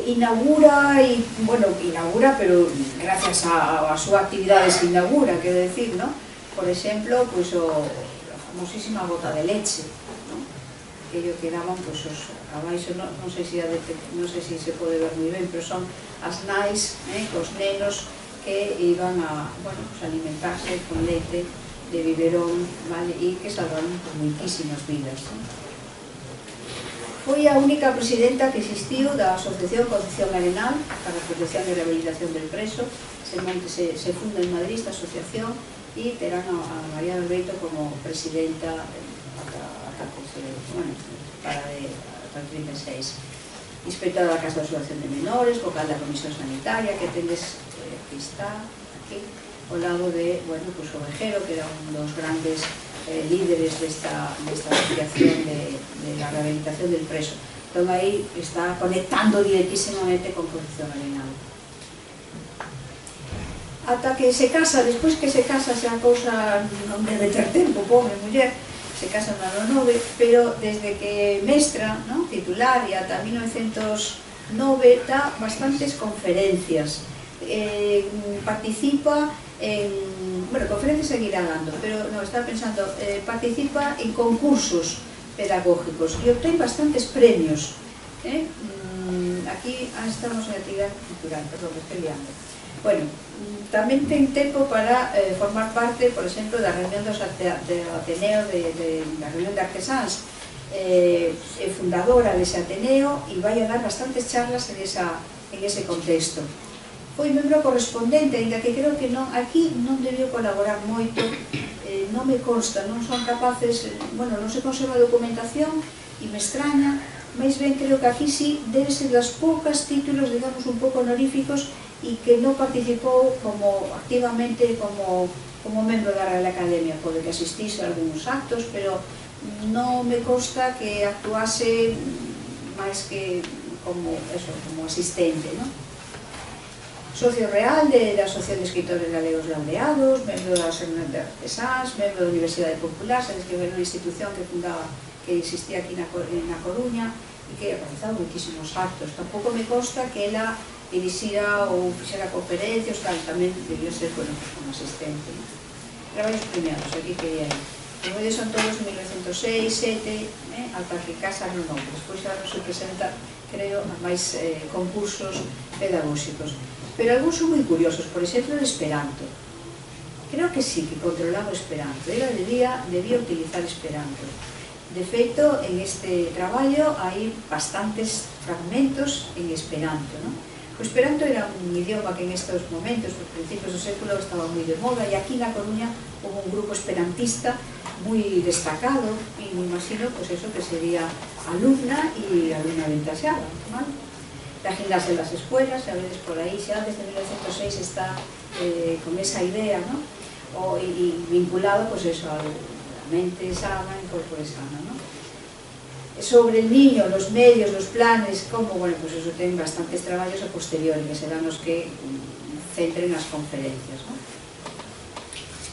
inaugura, pero gracias a súa actividade se inaugura, quero decir, ¿no? Por exemplo, pues, a famosísima bota de leche, ¿no? Que ello quedaban, pues, abaixo, non sei se se pode ver moi ben, pero son as nais, cos nenos que iban a, bueno, pues, alimentarse con leite de biberón, vale? E que salvaron por moitísimas vidas, ¿no? Foi a única presidenta que existiu da Asociación Concepción Arenal para a protección e rehabilitación del preso. Se funda en Madrid esta asociación e terán a María Barbeito como presidenta para el 36. Inspectora da Casa de Asociación de Menores, vocal da Comisión Sanitaria, que tendes, aquí está, aquí, ao lado de, bueno, pues Ovejero, que era un dos grandes líderes desta asociación de la rehabilitación del preso. Entón aí está conectando directísimamente con Concepción Arenal. Ata que se casa, despois que se casa, xa a cousa non debe ter tempo, pobre muller, se casa no ano 9, pero desde que mestra, ¿no?, titular, e ata 1909 dá bastantes conferencias, participa en, bueno, conferencias seguirá dando, pero no, estaba pensando, participa en concursos pedagógicos e obtén bastantes premios. Aquí estamos en actividade cultural, perdón, me estoy liando. Bueno, tamén ten tempo para formar parte, por exemplo, da reunión do Ateneo, da reunión de artesáns, é fundadora dese Ateneo e vai a dar bastantes charlas en ese contexto. Foi membro correspondente, ainda que creo que aquí non debió colaborar moito, non me consta, non son capaces, bueno, non se conserva documentación e me extraña, máis ben creo que aquí sí debe ser das poucas títulos, digamos, un pouco honoríficos e que non participou activamente como membro da Real Academia. Pode que asistise a algúns actos, pero non me consta que actuase máis que como asistente, non? Socio real da Asociación de Escritores Galegos Laureados, membro da Asociación de Artesáns, membro da Universidade Popular, sabes que era unha institución que existía aquí na Coruña e que realizaba moitísimos actos. Tampouco me consta que ela dirixira ou fixera conferencias, tamén debió ser, bueno, como asistente. Traballos premiados, aquí que hai. Os medios son todos de 1906, 7, ata que casan no nome. Despois xa non se presenta, creo, a máis concursos pedagóxicos. Pero algúns son moi curiosos, por exemplo, el Esperanto. Creo que sí, que controlaba o Esperanto. Ela debía utilizar Esperanto. De feito, en este traballo hai bastantes fragmentos en Esperanto, non? O Esperanto era un idioma que en estes momentos, nos principios do século, estaba moi de moda, e aquí na Coruña houve un grupo esperantista muy destacado, y me imagino pues eso que sería alumna y alumna ventaseada, ¿vale? La gimnasia en las escuelas, a veces por ahí xa desde 1906 está con esa idea, ¿no? Y vinculado pues eso a la mente sana y corpore sana, ¿no? Sobre el niño, los medios, los planes, como, bueno, pues eso ten bastantes traballos a posteriori, que serán os que centren as conferencias, ¿no?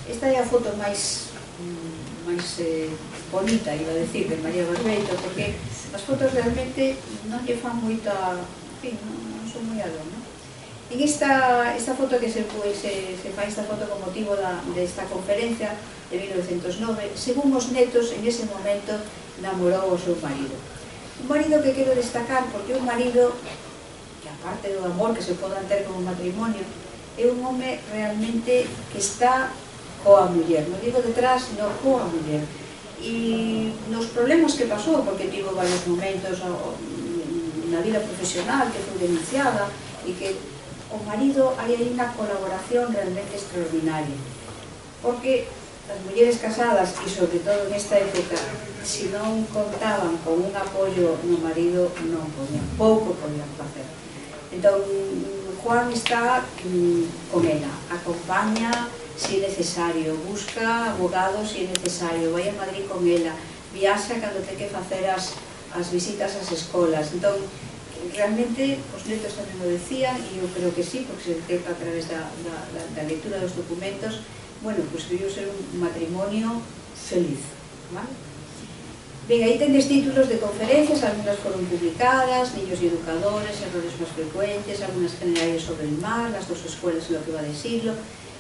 Esta é a foto máis bonita, iba a decir, de María Barbeito, porque as fotos realmente non lle fan moita, en fin, non son moi algo, non? En esta foto que se fai esta foto con motivo desta conferencia de 1909, según os netos, en ese momento namorou o seu marido. Un marido que quero destacar porque é un marido que, aparte do amor que se podan ter como matrimonio, é un home realmente que está coa muller, non digo detrás, sino coa muller. E nos problemas que pasou, porque tivo varios momentos na vida profesional que foi denunciada, e que o marido hai unha colaboración realmente extraordinaria, porque as mulleres casadas, e sobre todo nesta época, se non contaban con un apoio no marido, non podían, pouco podían facer. Entón, Juan está con ela, acompaña se é necesario, busca abogados se é necesario, vai a Madrid con ela, viaxa cando ten que facer as visitas ás escolas. Entón, realmente, os netos tamén o decían, e eu creo que sí, porque se detecta a través da lectura dos documentos, bueno, pues debió ser un matrimonio feliz, ¿vale? Ben, aí tendes títulos de conferencias, algunas foron publicadas, Niños y educadores, errores más frecuentes, algunas generales sobre el mar, las dos escuelas en lo que va de siglo.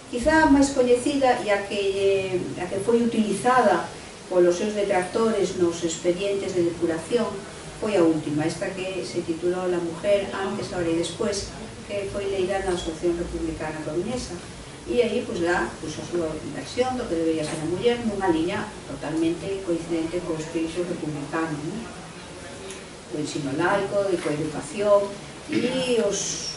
Quizá a máis coñecida e a que foi utilizada polos seus detractores nos expedientes de depuración foi a última, esta que se titulou La mujer antes, ahora e después, que foi leída na Asociación Republicana Coruñesa. E aí, pues, dá a súa versión do que debería ser a muller nunha liña totalmente coincidente co espírito republicano, ¿no? O ensino laico, de coeducación, e os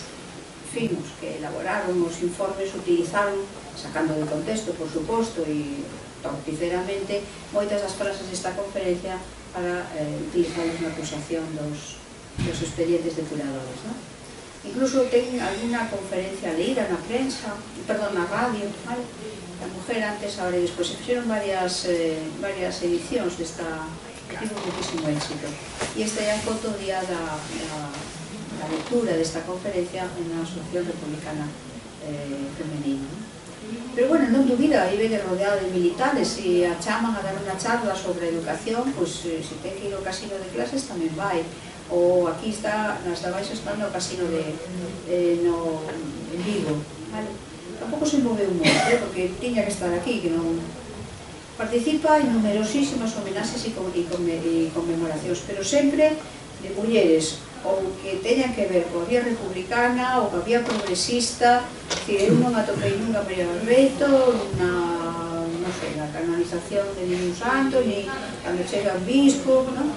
finos que elaboraron os informes utilizaron, sacando de contexto, por suposto, e torticeramente, moitas das frases desta conferencia para utilizarlos na acusación dos expedientes depuradores, ¿no? Incluso ten alguna conferencia leída na prensa, perdón, na radio, ¿vale? La mujer antes, ahora e despois. Se fixeron varias edicións desta, que tivo muchísimo éxito. E esta é a foto día da lectura desta conferencia na Asociación Republicana Femenina. Pero bueno, non dubida, aí vede rodeado de militares, se a chaman a dar unha charla sobre educación, pois se ten que ir ao casino de clases tamén vai. Ou aquí está, nas de abaixo está no casino en Vigo, vale? Tampouco se moveu moito, porque tiña que estar aquí, que non... Participa en numerosísimas homenaxes e conmemoracións, pero sempre de mulleres, ou que teñan que ver coa vía republicana, ou coa vía progresista. Eu non atopei nunca a María Barbeito na canonización de ningún santo, ni cando chega un bispo, non?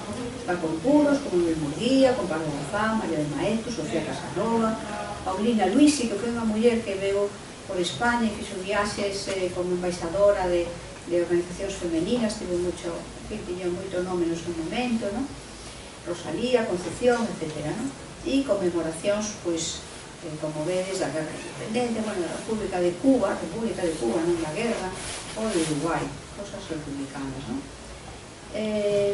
Está con puros, como Luis Murguía, con Pablo Gozán, María de Maeztu, Sofía Casanova, Paulina Luisi, que foi unha muller que veu por España e fixo viaxes como embaixadora de organizacións femeninas, tiña moito nome no seu momento, non? Rosalía, Concepción, etc. E conmemoracións, pois, como vedes, da Guerra de Independencia, bueno, da República de Cuba, non da Guerra, ou de Uruguai, cosas republicanas, non?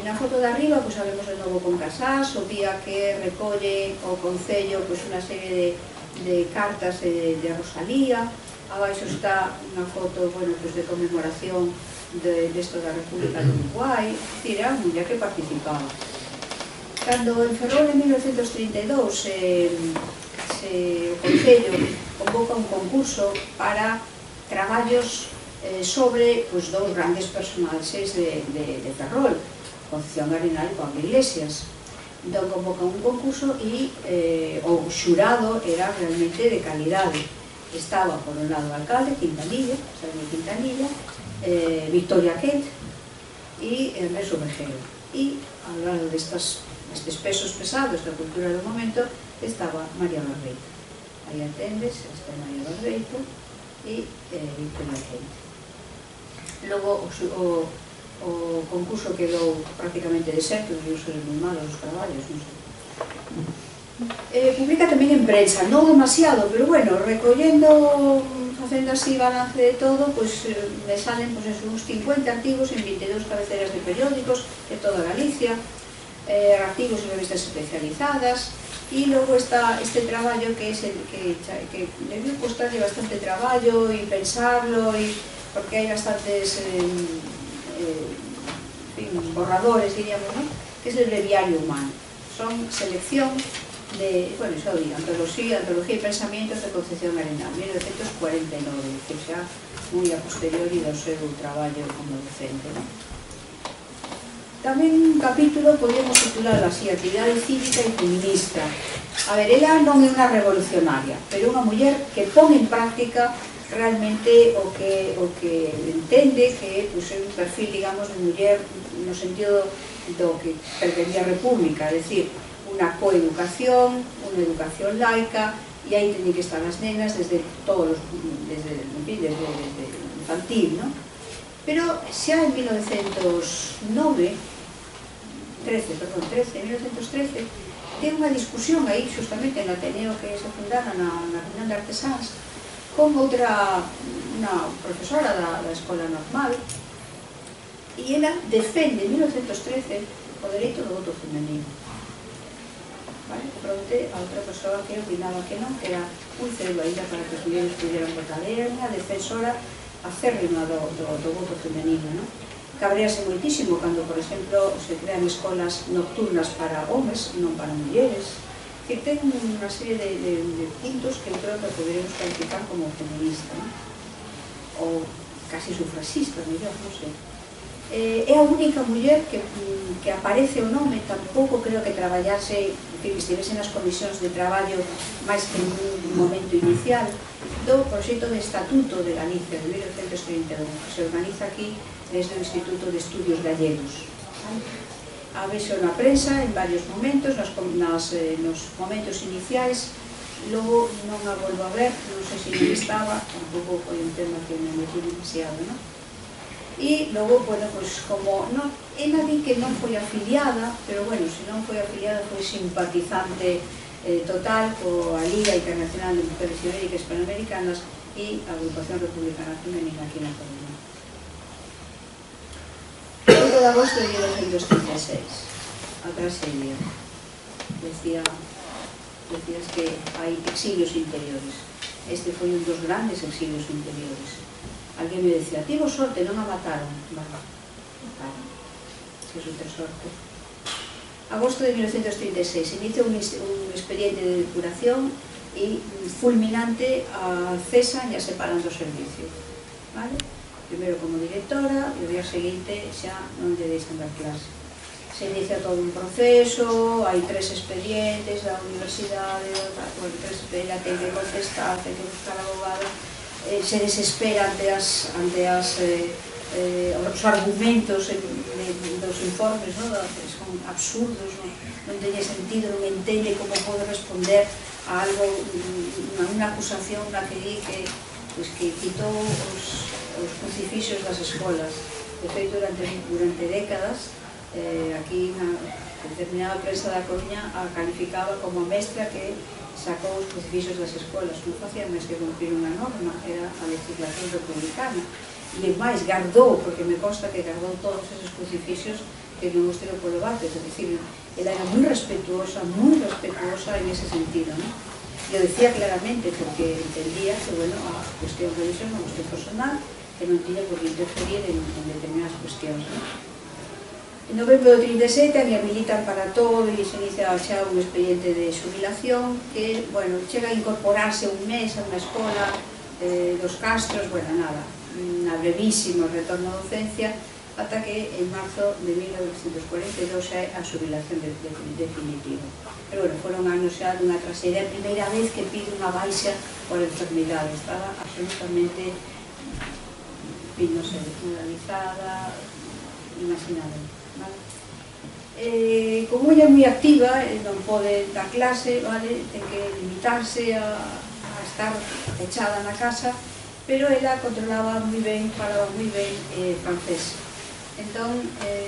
Na foto de arriba, pois, sabemos de novo con Casás, o día que recolle o Concello unha serie de cartas de Rosalía. Abaixo está unha foto, bueno, de conmemoración desto da República de Uruguai. É dicir, era unha muller que participaba. Cando en Ferrol en 1932 o Concello convoca un concurso para traballos sobre dous grandes personaxes de Ferrol, Concepción Arenal e Pablo Iglesias. Entón convoca un concurso e o xurado era realmente de calidade. Estaba, por un lado, o alcalde, Quintanilla, Victoria Kent e Ernesto Ovejero. E ao lado destes pesos pesados da cultura do momento estaba María Barbeito. Aí atendes, esta é María Barbeito e Victoria Kent. Logo, o concurso quedou prácticamente deserto, debió ser moi malos os traballos, non sei. Publica tamén en prensa, non demasiado, pero bueno, recollendo, facendo así balance de todo, pois me salen uns 50 artigos en 22 cabeceras de periódicos de toda Galicia, artigos en revistas especializadas, e logo está este traballo que debió costarle bastante traballo e pensarlo, porque hai bastantes borradores, diríamos, ¿no? Que es el breviario humano. Son selección de, bueno, xa o digo, antología e pensamientos de Concepción Arenal, 1949, que xa moi a posteriori do seu traballo como docente, ¿no? Tamén un capítulo podemos titular así, actividade cívica e feminista. A ver, ela non é unha revolucionaria, pero unha muller que pon en práctica realmente o que entende que é un perfil, digamos, de muller no sentido do que pretendía a República, é dicir, unha coeducación, unha educación laica, e aí teñen que estar as nenas desde infantil, ¿no? Pero xa en 1913, ten unha discusión aí, justamente no Ateneo que se fundara na Unión de Artesáns, con outra, unha profesora da Escola Normal, e ela defende en 1913 o dereito do voto femenino. Fronte a outra persoa que opinaba que non, que era un cero ainda para que os mulleres pudieran votar. Era unha defensora acérrima do voto femenino, non? Cabrease moitísimo cando, por exemplo, se crean escolas nocturnas para homes, non para mulleres. Que ten unha serie de puntos que eu creo que poderemos calificar como feminista, non? Ou casi sufrasista, mellor, non sei. É a única muller que aparece o nome, tampouco creo que traballase, que estivese nas comisións de traballo máis que en un momento inicial, do proxecto de Estatuto de Galicia de 1931, que se organiza aquí desde o Instituto de Estudios Gallegos. A vexo na prensa en varios momentos, nos momentos iniciais, logo non a volvo a ver, non sei se non estaba, tampouco foi un tema que me metí demasiado, non? E logo, bueno, pois como ela di que non foi afiliada, pero bueno, se non foi afiliada foi simpatizante total coa Liga Internacional de Mujeres Ibéricas Panamericanas e a Agrupación Republicana Femenina aquí na Coruña. 8 de agosto de 1936, a tragedia. Decías que hai exilios interiores. Este foi un dos grandes exilios interiores. Alguén me decía, tivo sorte, non a mataron. Bueno, mataron. Se é ter sorte. Agosto de 1936, inicia un expediente de depuración e fulminante a cesan e a separan do servicio. Vale? Primeiro como directora e o día seguinte xa non lle deixan dar clase. Se inicia todo un proceso, hai 3 expedientes da universidade, ela ten que contestar, ten que buscar abogado, se desespera ante os argumentos dos informes, son absurdos, non teñe sentido, non entende como pode responder a algo, a unha acusación na que di que quitou os crucifixos das escolas. De feito, durante décadas, aquí na determinada prensa da Coruña a calificaba como a mestra que sacou os crucifixos das escolas. Non facía máis que cumprir unha norma, era a legislación republicana. E máis, gardou, porque me consta que gardou todos esos crucifixos que non os tirou polo bate. É dicir, ela era moi respetuosa en ese sentido, non? E o decía claramente, porque entendía que, bueno, a cuestión religiosa, a cuestión personal, que non tiña por que interferir en determinadas cuestións, non? En novembro do 37 a militan para todo e se inicia xa un expediente de xubilación que, bueno, chega a incorporarse un mes a unha escola dos Castros, bueno, nada, unha brevísima retorno a docencia, ata que en marzo de 1942 xa é a xubilación definitiva. Pero, bueno, foron anos xa dunha traxedia, a primeira vez que pide unha baixa por enfermidade, estaba absolutamente, non sei, desmoralizada, imaginable. Como ella é moi activa, non pode dar clase, ten que limitarse a estar pechada na casa, pero ela controlaba moi ben, falaba moi ben francés. Entón,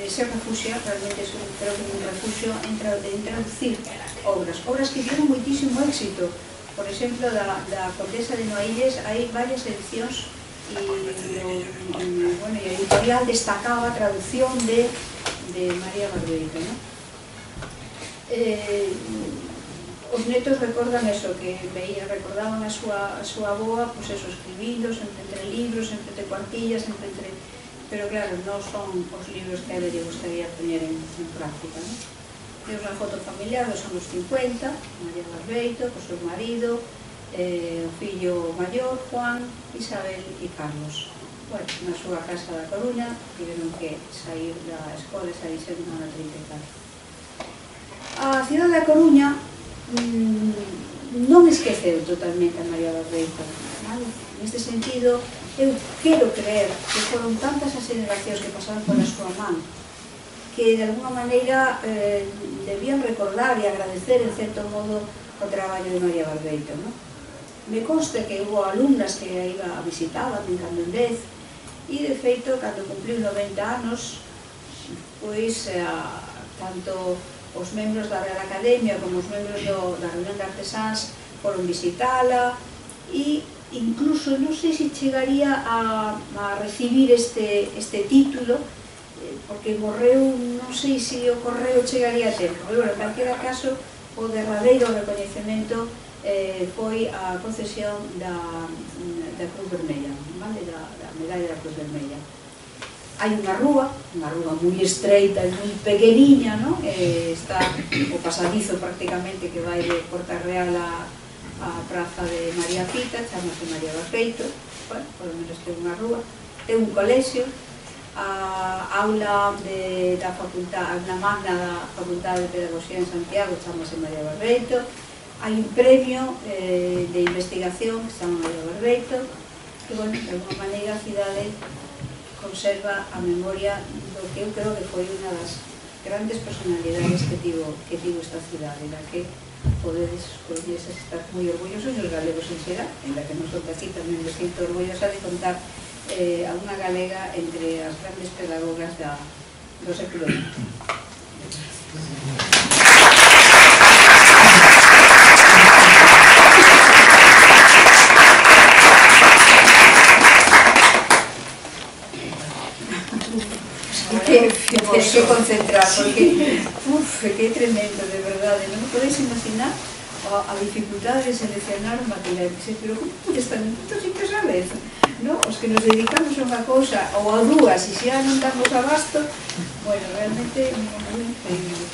se refuxia, realmente creo que un refugio en traducir obras que tiveron moitísimo éxito. Por exemplo, da Condesa de Noailles hai varias edicións e a editorial destacaba a traducción de María Barbeito, ¿no? Os netos recordan eso, que recordaban a súa avoa, pues eso, escribindo, sempre entre libros, sempre entre cuartillas, sempre entre... Pero claro, non son os libros que a ela lle gustaría poñer en práctica, ¿no? Temos unha foto familiar dos anos 50, María Barbeito, co seu marido, o fillo maior, Juan, Isabel e Carlos. Bueno, na súa casa da Coruña, tiveron que sair da escola e sair sendo na 34. A cidade da Coruña non esqueceu totalmente a María Barbeito, vale? Neste sentido, eu quero creer que foron tantas as generacións que pasaron pola súa man que de alguna maneira debían recordar e agradecer en certo modo o traballo de María Barbeito, ¿no? Me consta que hubo alumnas que a iba a visitar en cando en vez e de feito, cando cumpliu 90 anos, pois tanto os membros da Real Academia como os membros da Reunión de Artesáns foron visitala e incluso non sei se chegaría a recibir este título, porque morreu, non sei se o correo chegaría a tempo, pero en calquera caso o derradeiro recoñecemento foi a concesión da Cruz Vermella, da medalla da Cruz Vermella. Hai unha rúa moi estreita e moi pequeniña, está o pasadizo prácticamente que vai de Porta Real a praza de María Pita, chamase María Barbeito, bueno, por lo menos ten unha rúa, ten un colexio, a aula da facultad, a magna da Facultade de Pedagogía en Santiago, chamase María Barbeito, hai un premio de investigación que se chama María Barbeito, que, bueno, de alguma maneira a cidade conserva a memoria do que eu creo que foi unha das grandes personalidades que tivo esta cidade, na que podedes estar moi orgullosos e os galegos en xeral, en la que non son aquí tamén me sinto orgullosa de contar a unha galega entre as grandes pedagogas do século XX. Tens que concentrar, porque que é tremendo, de verdade, non podes imaginar a dificultade de seleccionar un material, pero como podes estar en moitos sitios a vez, os que nos dedicamos a unha cousa ou a dúas e xa non damos abasto, bueno, realmente é moi increíble.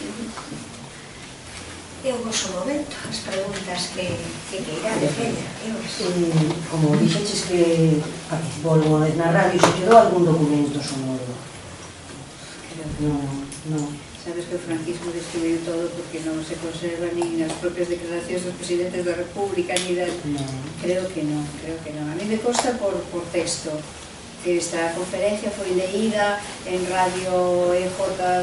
É o vosso momento, as preguntas que queirades, como dixeches que participou alguna vez na radio, se quedou algún documento sonoro? Non. Sabes que o franquismo destruiu todo porque non se conserva nin as propias declaracións dos presidentes da República ni das... Creo que non. A mí me consta por texto que esta conferencia foi leída en radio EJ,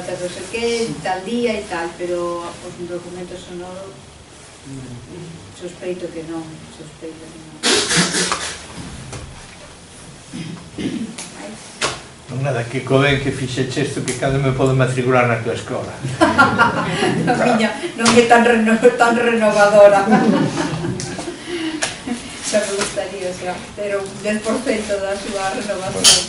non sei que, tal día e tal, pero os documentos sonoros sospeito que non. Non nada, que coben que fixeche isto que cando me podo matricular na tua escola. A miña non é tan renovadora. Xa me gustaría ter un 10% da súa renovación.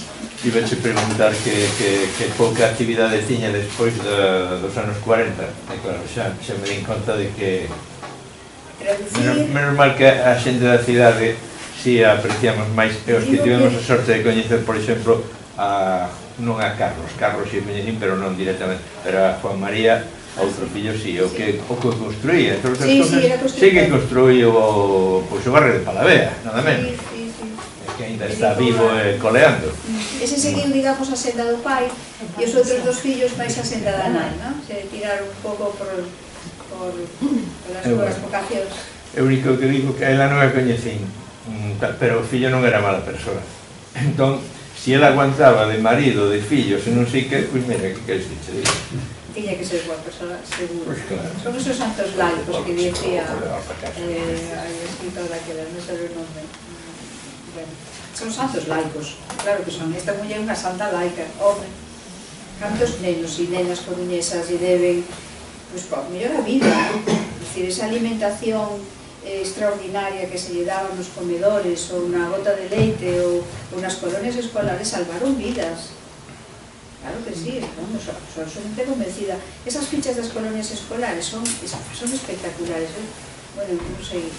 Ibache preguntar que pouca actividade tiña despois dos anos 40. E claro, xa me din conta de que menos mal que a xente da cidade si apreciamos máis, e os que tivemos a sorte de coñecer, por exemplo, non a Carlos si coñecín, pero non directamente, pero a Juan María, outro fillo, si, o que construía, sí que construiu o barrio de Palavea, nada menos, que ainda está vivo e coleando. Ese seguiu, digamos, a senda do pai, e os outros dos fillos máis a senda da nai, se tiraron un pouco por as súas vocacións. É o único que digo que a ela non a coñecín, pero o fillo non era mala persona. Entón, se ela aguantaba de marido, de fillos e non sei que, pois mira, que queres que che diga? Tiña que ser boa persona, seguro. Son esos santos laicos que decía a escritora que non sabe o nome. Son santos laicos, claro que son. Esta muller é unha santa laica, home. cantos nenos e nenas coruñesas lle deben, pois, mellor a vida, é dicir, esa alimentación extraordinaria que se lle daba nos comedores ou na gota de leite ou nas colonias escolares salvaron vidas. Claro que sí, vamos, son convencida. Esas fichas das colonias escolares son espectaculares. Bueno, non sei,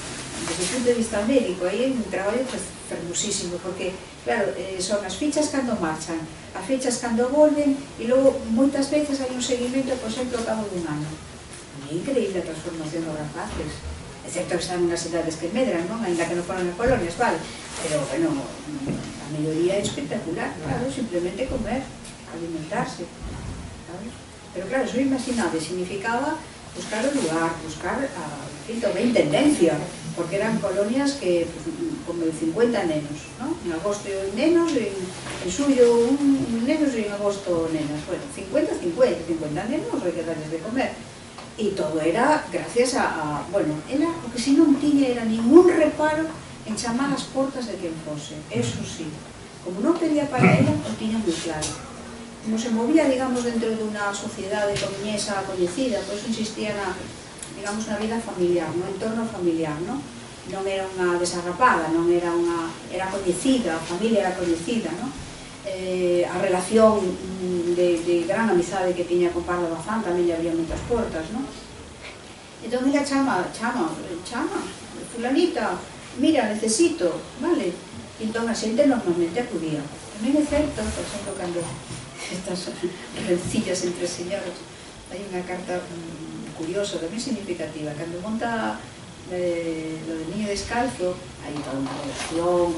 desde o punto de vista médico, aí é un traballo fermosísimo, porque, claro, son as fichas cando marchan, as fichas cando volven, e logo, moitas veces, hai un seguimento, por exemplo, ao cabo dun ano. É increíble a transformación dos rapaces. É certo que están nas edades que medran, non? Ainda que non foran en colonias, vale? Pero, bueno, a maioría é espectacular, claro, simplemente comer, alimentarse, sabes? Pero, claro, eso imaginable, significaba buscar o lugar, buscar tamén tendencia, porque eran colonias que, como de 50 nenos, non? En agosto nenos, en xullo nenos e en agosto nenas. Bueno, 50 nenos, hai que darles de comer. E todo era gracias bueno, era o que si non tiña era ningún reparo en chamar as portas de quen fose, eso sí. Como non pedía para ela, o tiña moi claro. Como se movía, digamos, dentro dunha sociedade coruñesa coñecida, pois insistía na, digamos, na vida familiar, no entorno familiar, non? Non era unha desarrapada, non era unha... era coñecida, a familia era coñecida, non? A relación de gran amizade que tiña con Pardo Bazán tamén lle abría moitas portas, non? Entón ela chama, fulanita, mira, necesito, vale? Entón a xente normalmente acudía. Tamén é certo, por exemplo, cando estas rencillas entre señoras, hai unha carta curiosa, tamén significativa, cando monta lo del niño descalzo, hai toda unha relación,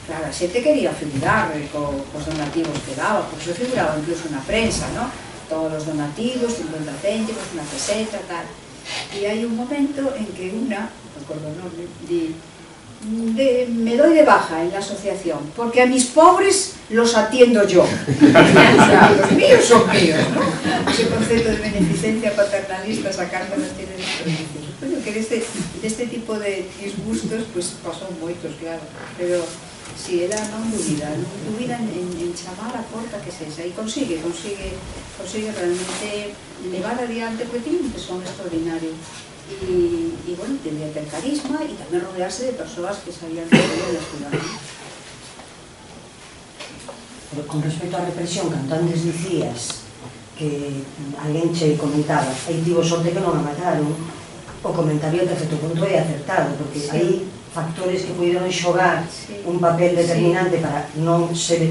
claro, a xente quería figurar cos donativos que daba, porque eso figuraba incluso na prensa, non? Todos os donativos, 50 céntimos, unha peseta, tal. E hai un momento en que unha, non recordo o nome, me doy de baja en la asociación, porque a mis pobres los atiendo yo. O sea, los míos son míos, ¿no? Ese concepto de beneficencia paternalista, esa carta nos tiene desperdicio. Bueno, que deste tipo de disgustos, pues pasou moitos, claro, pero si era non dúbida en chamar a porta que sexa, e consigue realmente levar adiante, porque tiene un tesón extraordinario. Y bueno, tendría que ter carisma e tamén rodearse de persoas que sabían que era de ciudad. Con respecto á represión, cando antes dicías que alguén che comentaba aí tivo sorte que non a mataron, o comentario de certo punto é acertado, porque hai factores que puderon xogar un papel determinante para non ser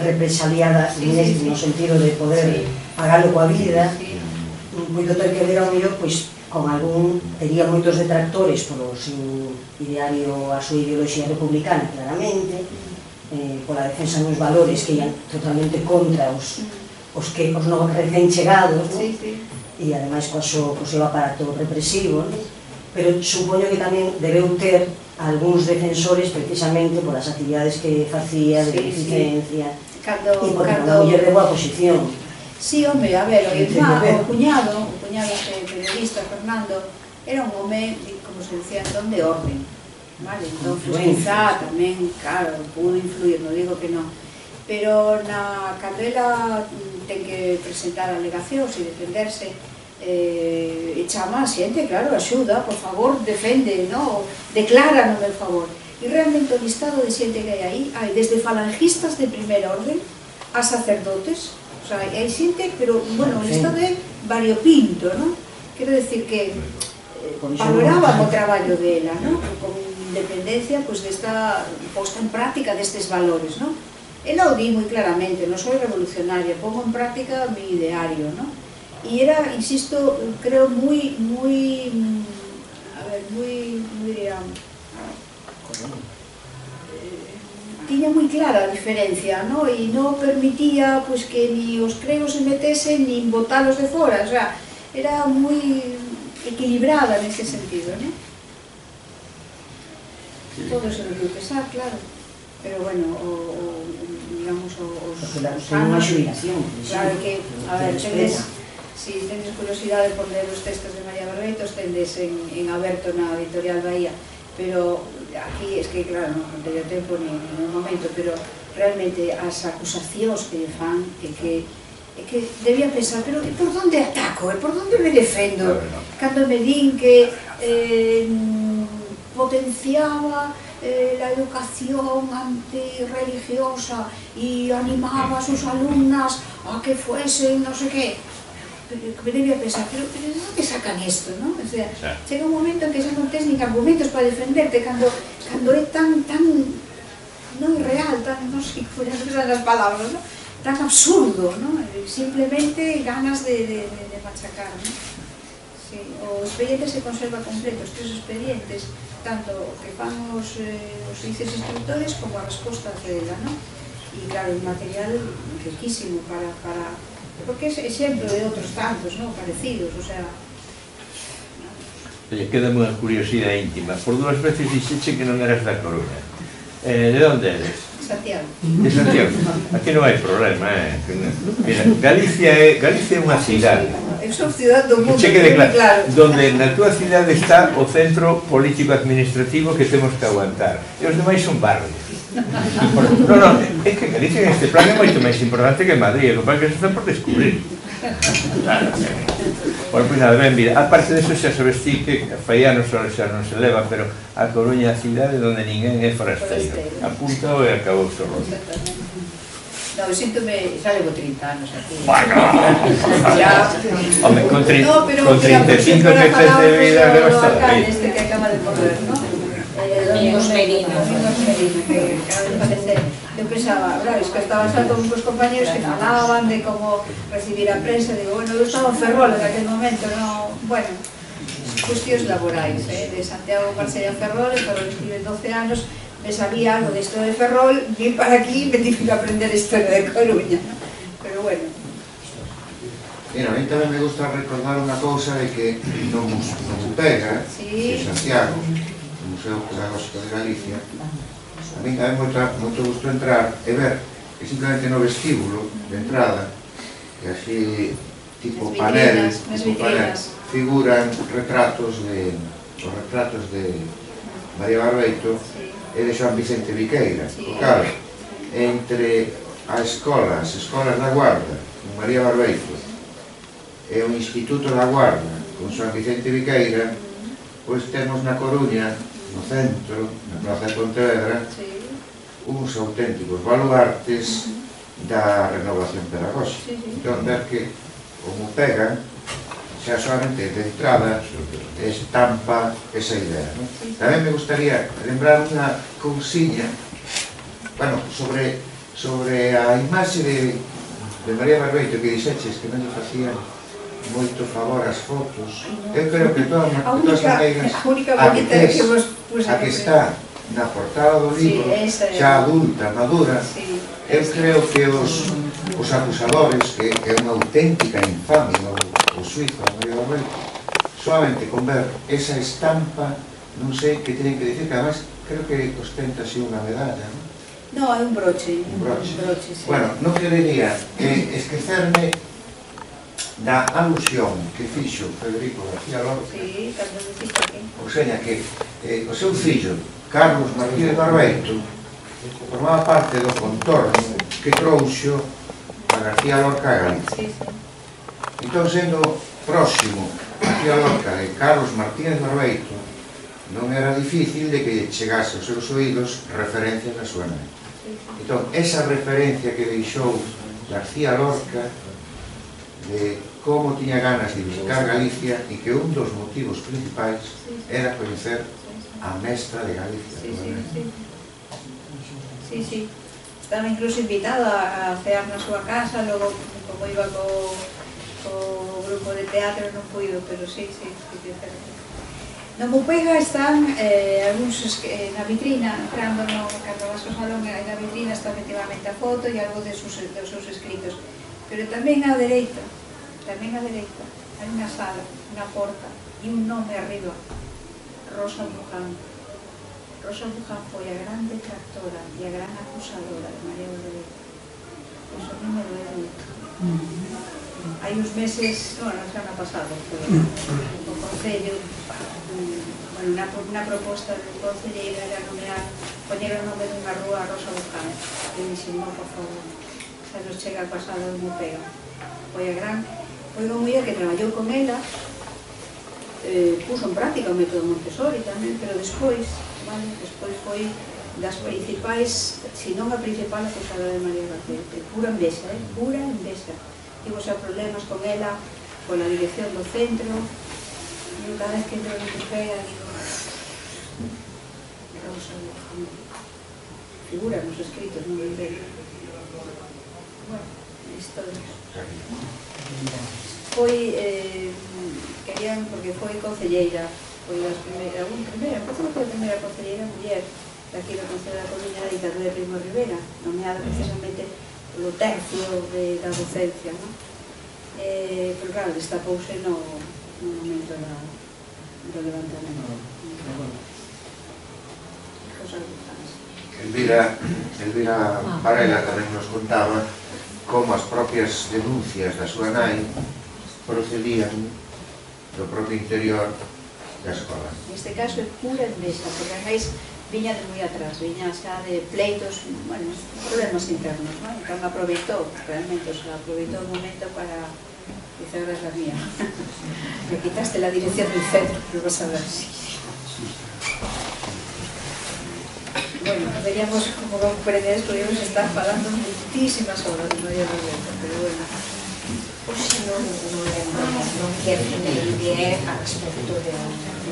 represaliada no sentido de poder pagalo coa vida. Podo ter que ver ao mellor, pois, con algún, tería moitos detractores polo seu ideario, a súa ideoloxía republicana, claramente, pola defensa dos valores que ian totalmente contra os non recén chegados, e ademais co seu aparato represivo, pero supoño que tamén debeu ter algúns defensores precisamente polas actividades que facía de beneficencia e porque era unha muller de boa posición. Sí, home, a ver, o cuñado periodista, Fernando, era un home, como se decía, entón de orden, vale? Entón, quizá tamén, claro, pudo influir, non digo que non, pero cando ela ten que presentar alegacións e defenderse, chama a xente, claro, axuda, por favor, defende, declara no meu favor. E realmente o listado de xente que hai aí, desde falangistas de primeira orden a sacerdotes, o sea, hai xente, pero, bueno, o listado é variopinto, non? Quero decir que valoraba o traballo dela, non? Con independencia, pois, desta posta en práctica destes valores, non? Ela o di moi claramente, non soy revolucionaria, pongo en práctica o meu ideario, non? E era, insisto, creo, moi, a ver, moi, diría, tiña moi clara a diferencia, non? E non permitía, pois, que ni os creos se metesen, nin botalos de fora, o sea, era moi equilibrada nese sentido, non? Todo se debió pesar, claro, pero, bueno, digamos, os anos, claro que, a ver, si tenes curiosidade por ler os textos de María Barbetos, tendes en aberto na editorial Bahía, pero aquí, es que, claro, non teño tempo ni un momento, pero realmente as acusacións que lle fan é que que debía pensar, pero por onde ataco, por onde me defendo? Cando me din que potenciaba la educación antirreligiosa y animaba a sus alumnas a que fuesen no sé qué, me debía pensar, pero ¿de dónde sacan esto? ¿No? O sea, llega un momento en que xa non tens nin argumentos para defenderte cando é tan non real, tan, non sei como as palabras, ¿no? Tan absurdo, ¿no? Simplemente ganas de machacar, ¿no? Sí, o expediente se conserva completo, os 3 expedientes, tanto que fan os juíces instructores como a resposta dela, ¿no? E claro, un material riquísimo para porque é exemplo de outros tantos, ¿no? Parecidos, o sea... Oye, quédame unha curiosidade íntima. Por 2 veces dixeche que non eras da Coruña. De onde eres? Santiago. De Santiago. Aquí non hai problema, Mira, Galicia é unha cidade. Eu sou cidade do mundo, che quede claro. Donde na túa cidade está o centro político-administrativo que temos que aguantar. E os demais son barrios. Non, é que Galicia en este plan é moito máis importante que Madrid, o que se está por descubrir. Bueno, pois nada, ben, mira, aparte deso xa sabes ti que faianos xa non se leva, pero a Coruña é a cidade onde ninguén é forasteiro. Apunta e acabou o rollo. No, síntome, xa levo 30 anos aquí. Bueno, home, con 35 que tes de vida levas toda a vida. Este que acaba de correr, ¿no? Domingos Merino, que acaba de falecer. Eu pensaba, claro, es que estaba xa con uns compañeros que falaban de como recibir a prensa, digo, bueno, eu estaba en Ferrol en aquel momento, no, bueno, cuestións laborais, de Santiago marchei a Ferrol, en Ferrol estive 12 anos, me sabía algo de historia de Ferrol, vim para aquí e me tive que aprender a historia de Coruña, ¿no? Pero bueno. Mira, a mí tamén me gusta recordar unha cousa de que no Musupega, de Santiago, o Museo Pedagóxico de Galicia, a mí tamén moito gusto entrar e ver que simplemente no vestíbulo de entrada, que así tipo panel, figuran retratos de María Barbeito e de Xoan Vicente Viqueira. Claro, entre as escolas da Guarda, con María Barbeito, e o Instituto da Guarda, con Xoan Vicente Viqueira, pois temos na Coruña, no centro, na Plaza de Pontevedra, uns auténticos baluartes da renovación pedagóxica. Entón, ver que como pega, xa solamente de entrada, estampa esa idea. Tamén me gustaría lembrar unha cousiña, bueno, sobre a imaxe de María Barbeito que dixeches que non lle facían moito favor as fotos. Eu creo que todas as maneiras a que está na portada do libro, xa adulta, madura, eu creo que os acusadores, que é unha auténtica infamia o suizo, a María Barbeito, solamente con ver esa estampa, non sei que teñen que dicir, que además creo que ostenta así unha medalla, non? No, hai un broche. Un broche, sí. Bueno, non querería esquecerme da alusión que fixo Federico García Lorca, ou seja, que o seu fillo, Carlos Martínez Barbeito, formaba parte do contorno que trouxo a García Lorca a Galicia. Entón, sendo próximo García Lorca e Carlos Martínez Barbeito, non era difícil de que chegase aos seus oídos referencias da súa nai. Entón, esa referencia que deixou García Lorca de como tiña ganas de visitar Galicia e que un dos motivos principais era coñecer a mestra de Galicia. Sí. Estaba incluso invitada a cear na súa casa, logo, como iba co grupo de teatro, non puido, pero sí. No Mupega están algúns na vitrina, entrando cando vas ao salón, na vitrina está efectivamente a foto e algo dos seus escritos. Pero tamén á dereita, hai unha sala, unha porta e un nome arriba, Rosa Buján. Rosa Buján foi a gran detractora e a gran acusadora de María Barbeito. Iso a mí me doeu moito. Hai uns meses, bueno, xa na pasado, o Concello, unha proposta do concelleiro era poñer o nome dunha rúa a Rosa Buján. E dixen, non, por favor, xa nos chega a pasada do Mupega. foi unha muller que traballou con ela, puso en práctica o método Montessori tamén, pero despois foi das principais, se non a principal acusada de María García, pura envexa, pura envexa. Tivo xa problemas con ela, con a dirección do centro, e cada vez que entro en Wikipedia digo, causa de familia. Figura nos escritos, non me entendo. Bueno, historias. Foi, querían, porque foi concelleira, foi das primeiras, foi a primeira concelleira muller daqui do Concello da Coruña da ditadura de Primo de Rivera, nomeada precisamente polo tercio da docencia, non? Pero claro, destapouse no momento do levantamento. Elvira Varela tamén nos contaba como as propias denuncias da súa nai procedían do propio interior da escola. Neste caso é pura envexa, porque a máis viña de moi atrás, viña xa de pleitos, bueno, problemas internos, non? Entón aproveitou, realmente, aproveitou o momento para dizer a la mía. Me quitaste la dirección del centro, pero vas a ver. Bueno, veríamos, como comprendedes, podríamos estar falando muchísimas horas de María García, pero bueno. Pois non lembro, non quero que me diría a respecto de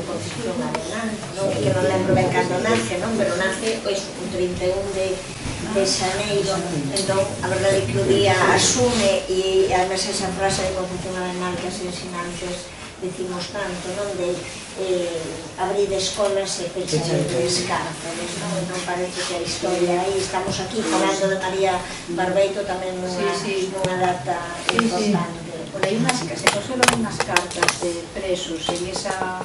Concepción Arenal, non é que non lembro ben cando nace, non? Pero nace, pois, o 31 de xaneiro, entón, a verdade é que o día asume, e además esa frase de Concepción Arenal que as ensinantes decimos tanto, non? De abrir escolas e pechar cárceles, non? Entón parece que a historia aí, estamos aquí falando de María Barbeito tamén nunha data importante. Por aí se conservan unhas cartas de presos en esa,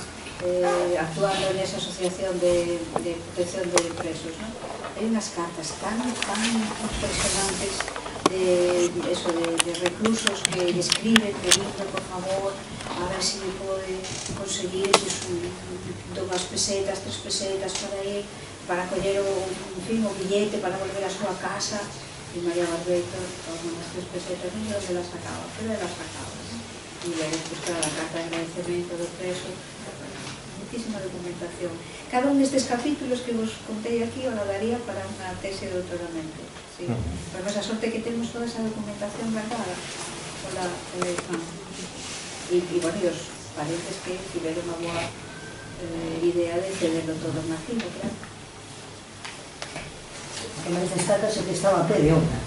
actuando en esa asociación de protección de presos, non? Hai unhas cartas tan impresionantes de reclusos que lle escriben pedindo, por favor, a ver se me pode conseguir unhas pesetas, 3 pesetas por aí, para coller o billete para volver a súa casa. E María Barbeito, con as 3 pesetas, non sei onde las sacaba, pero las sacaba. E aí, pues, claro, a carta de agradecemento do preso, muchísima documentación. Cada un destes capítulos que vos contei aquí o daría para unha tese de doutoramento. Sí. Porque a sorte que temos toda esa documentación guardada pola IFAM. E, bueno, e os parentes que tiveron unha boa idea de cederlo todo en arquivo, claro. Que máis destaca se que estaba a pé de obra.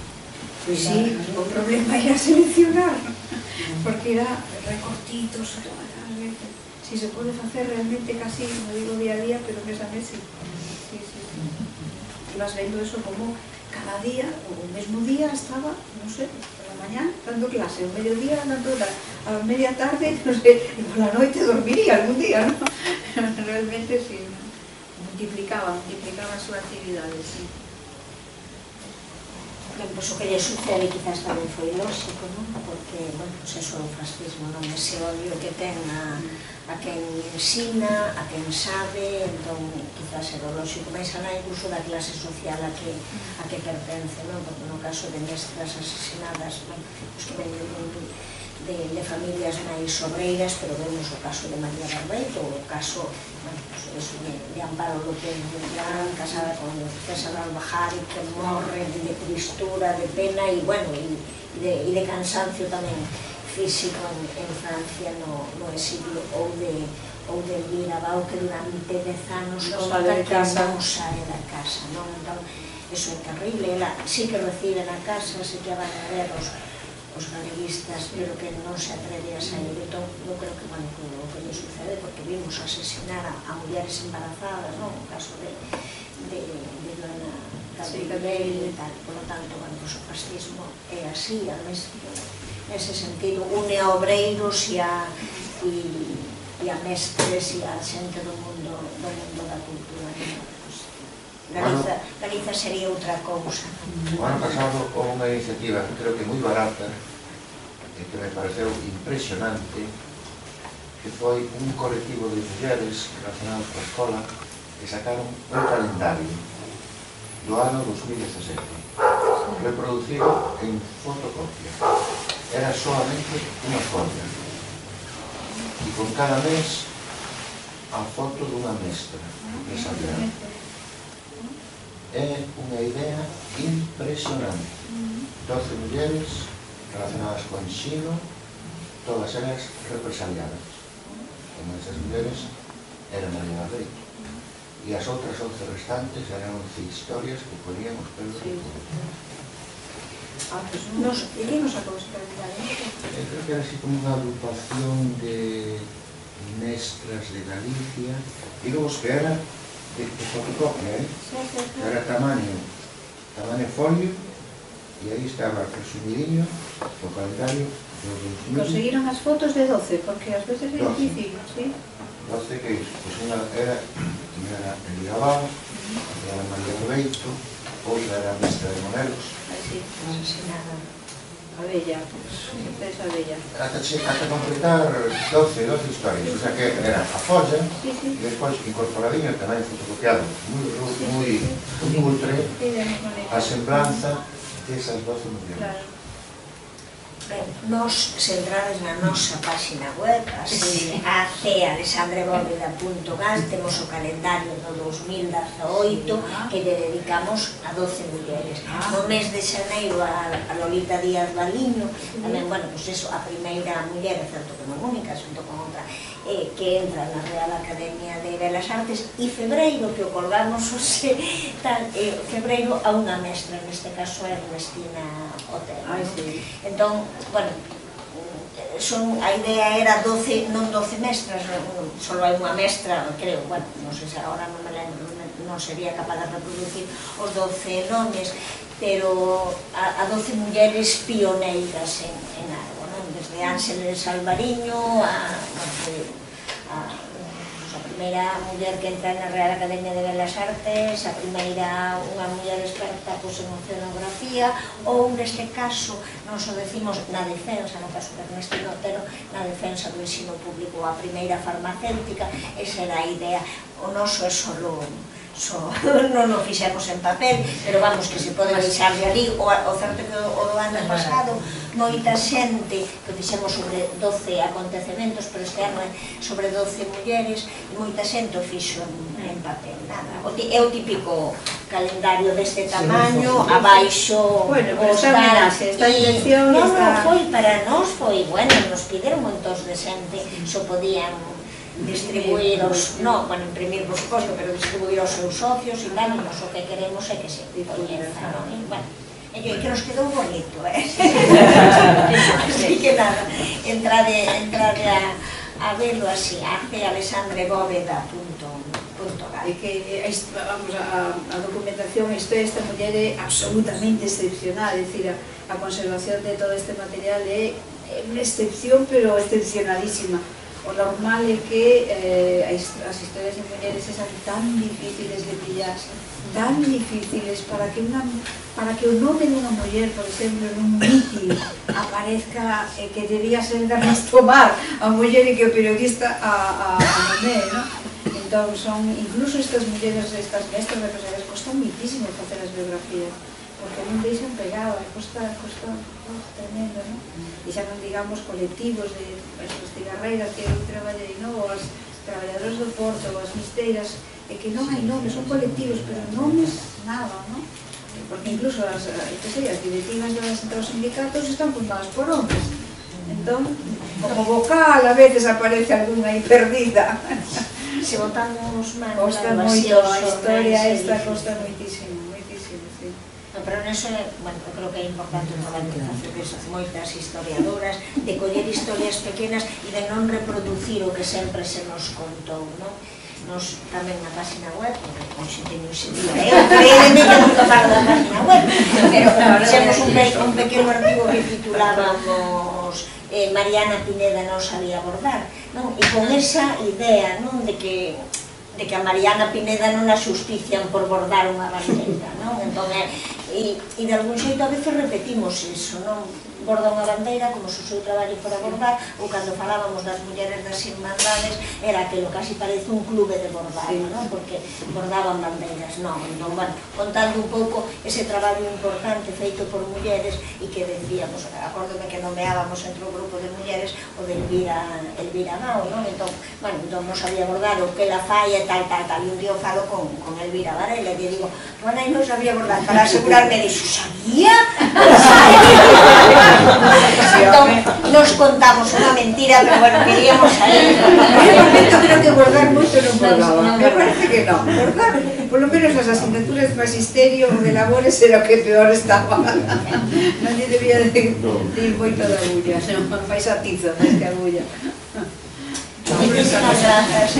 Pois sí, o problema era seleccionar, porque era recortitos, si se pode facer realmente casi, non digo día a día, pero mes a mes, sí. Ibas vendo eso como cada día, o mesmo día estaba, non sei, por la mañana dando clase, o mediodía dando a media tarde, non sei, e por la noite dormiría algún día, non? Realmente, sí, multiplicaba a súa actividade, sí. Ben, pois o que lle sucede quizás tamén foi lógico, non? Porque, bueno, pois eso o fascismo, non? Ese odio que ten a quen ensina, a quen sabe, entón quizás era lógico, máis alá incluso da clase social a que pertence, non? Porque no caso de mestras asesinadas, bueno, os que ven de familias máis obreiras, pero vemos o caso de María Barbeito, o caso, bueno, de Amparo López Beltrán, casada con César Albajari, que morre de tristura, de pena e, bueno, e de cansancio tamén físico en Francia no exilio, ou de Elvira Bau, que durante 10 anos non sae da casa, non? Entón, eso é terrible. Ela sí que recibe na casa, sí que van a ver os galeguistas, pero que non se atreve a sair. Entón, eu creo que, bueno, o que lle sucede, porque vimos asesinar a mulleres embarazadas, non? O caso de Dona Gabriel e tal. Por lo tanto, bueno, o fascismo é así, además, nese sentido, une a obreiros e a mestres e a xente do mundo da cultura. Galiza sería outra cousa. O ano pasado houve unha iniciativa que creo que moi barata e que me pareceu impresionante, que foi un colectivo de mulleres relacionados coa escola que sacaron un calendario do ano 2017 reproducido en fotocopia. era solamente unha folla. E con cada mes a foto dunha mestra desa aldea. É unha idea impresionante. 12 mulleres relacionadas co ensino, todas elas represaliadas. Unha desas mulleres era María Barreito. E as outras 11 restantes eran 11 historias que ponían os pelos de todo. E que nos sacou esta realidade? Creo que era así como unha agrupación de mestras de Galicia, digamos que era de fotocopia, que era tamaño folio, e aí estaba resumidinho o calendario dos 2000. Conseguiron as fotos de 12, porque ás veces é difícil, sí? 12 que iso, pois unha era Elia Abad, era María Barreito, outra era a mestra de modelos. Así, asesinada. A bella, esa bella. Hasta completar 12 historias, o sea que era a folla, e despois incorporadinho tamén fotocopiado, moi cutre, a semblanza desas 12 mulleres. Ben, nos centrades na nosa página web, así, alexandrebóveda.gas, temos o calendario do 2018 que lle dedicamos a 12 mulleres. No mes de xaneiro a Lolita Díaz Baliño, tamén, bueno, pois eso, a primeira muller, é certo que non única, xunto con outra, que entra na Real Academia de Belas Artes, e febreiro, que o colgamos hoxe, febreiro a unha mestra, neste caso é Ernestina Otero. Entón, bueno, a idea era 12, non 12 mestras, só hai unha mestra, creo, bueno, non sei se agora non me lembro, non sería capaz de reproducir os 12 nomes, pero a 12 mulleres pioneiras en algo, non? Desde Ángeles Alvariño a primeira muller que entra na Real Academia de Belas Artes, a primeira unha muller experta en oceanografía, ou neste caso, non o decimos na defensa, no caso de Ernestina Otero, na defensa do ensino público, a primeira farmacéutica, esa era a idea. O noso é solo non o fixemos en papel, pero vamos, que se pode deixar de ali. O certo que o do ano pasado moita xente, que fixemos sobre 12 acontecementos, pero este ano é sobre 12 mulleres, e moita xente o fixo en papel, nada. É o típico calendario deste tamaño, abaixo os datos. Esta dirección... Non, foi para nós, foi, bueno, nos pideron moitos de xente, só podían distribuir os, non, bueno, imprimir por suposto, pero distribuir os seus socios e tal, e nos o que queremos é que se coñeza, non? Bueno, é que nos quedou bonito, así que nada, entrade a verlo así, alexandrebóveda.gal. E que, vamos, a documentación, esta muller é absolutamente excepcional, é dicir, a conservación de todo este material é unha excepción, pero excepcionalísima. O normal é que as historias de mulleres sean tan difíciles de pillar, tan difíciles para que o nome dunha muller, por exemplo, nun mitin aparezca que debía ser de Rastomar a muller e que o periodista a nomé, non? Entón, son, incluso estas mulleres, estas mestras representadas, costa muitísimo facer as biografías, porque non deixan pegado, costa tremendo, non? E xa non digamos colectivos de as cigarreiras que eu traballei, non? Ou as traballadoras do porto, ou as misteiras, e que non hai nomes, son colectivos, pero nomes nada, non? Porque incluso as directivas dos sindicatos están fundadas por homes. Entón, como vocal, a veces aparece algunha aí perdida. Se botamos manos, costa moito, a historia esta costa moitísimo, sí. Pero neso, bueno, eu creo que é importante o traballo que facen moitas historiadoras, de coller historias pequenas e de non reproducir o que sempre se nos contou, non? Nos tamén na página web, hoxe teño ese día, créeme que nunca paro da página web, pero fixemos un pequeno artigo que titulábamos Mariana Pineda non sabía bordar, non? E con esa idea, non? De que a Mariana Pineda non a xustician por bordar unha bandeira, non? Entón, e de algún xeito a veces repetimos iso, non? borda unha bandeira como se o seu traballo fora bordar, ou cando falábamos das mulleres das irmandades era aquilo casi parece un clube de bordar, non? Porque bordaban bandeiras, non, bueno, contando un pouco ese traballo importante feito por mulleres e que decíamos, acórdome que nomeábamos entre o grupo de mulleres o de Elvira Gao, non? Entón, bueno, non sabía bordar o que la fai e tal, e un día o falo con Elvira Varela e lle digo, bueno, aí non sabía bordar, para asegurarme, dixo, sabía? Entón, nos contamos unha mentira, pero bueno, queríamos saber. En momento creo que bordar moito non bordaba. Me parece que non. Bordar, por lo menos as asignaturas de magisterio ou de labores era o que peor estaba. Non lle debía de ir moito da agulla, non fais a tizo, máis que agulla. Muchas gracias.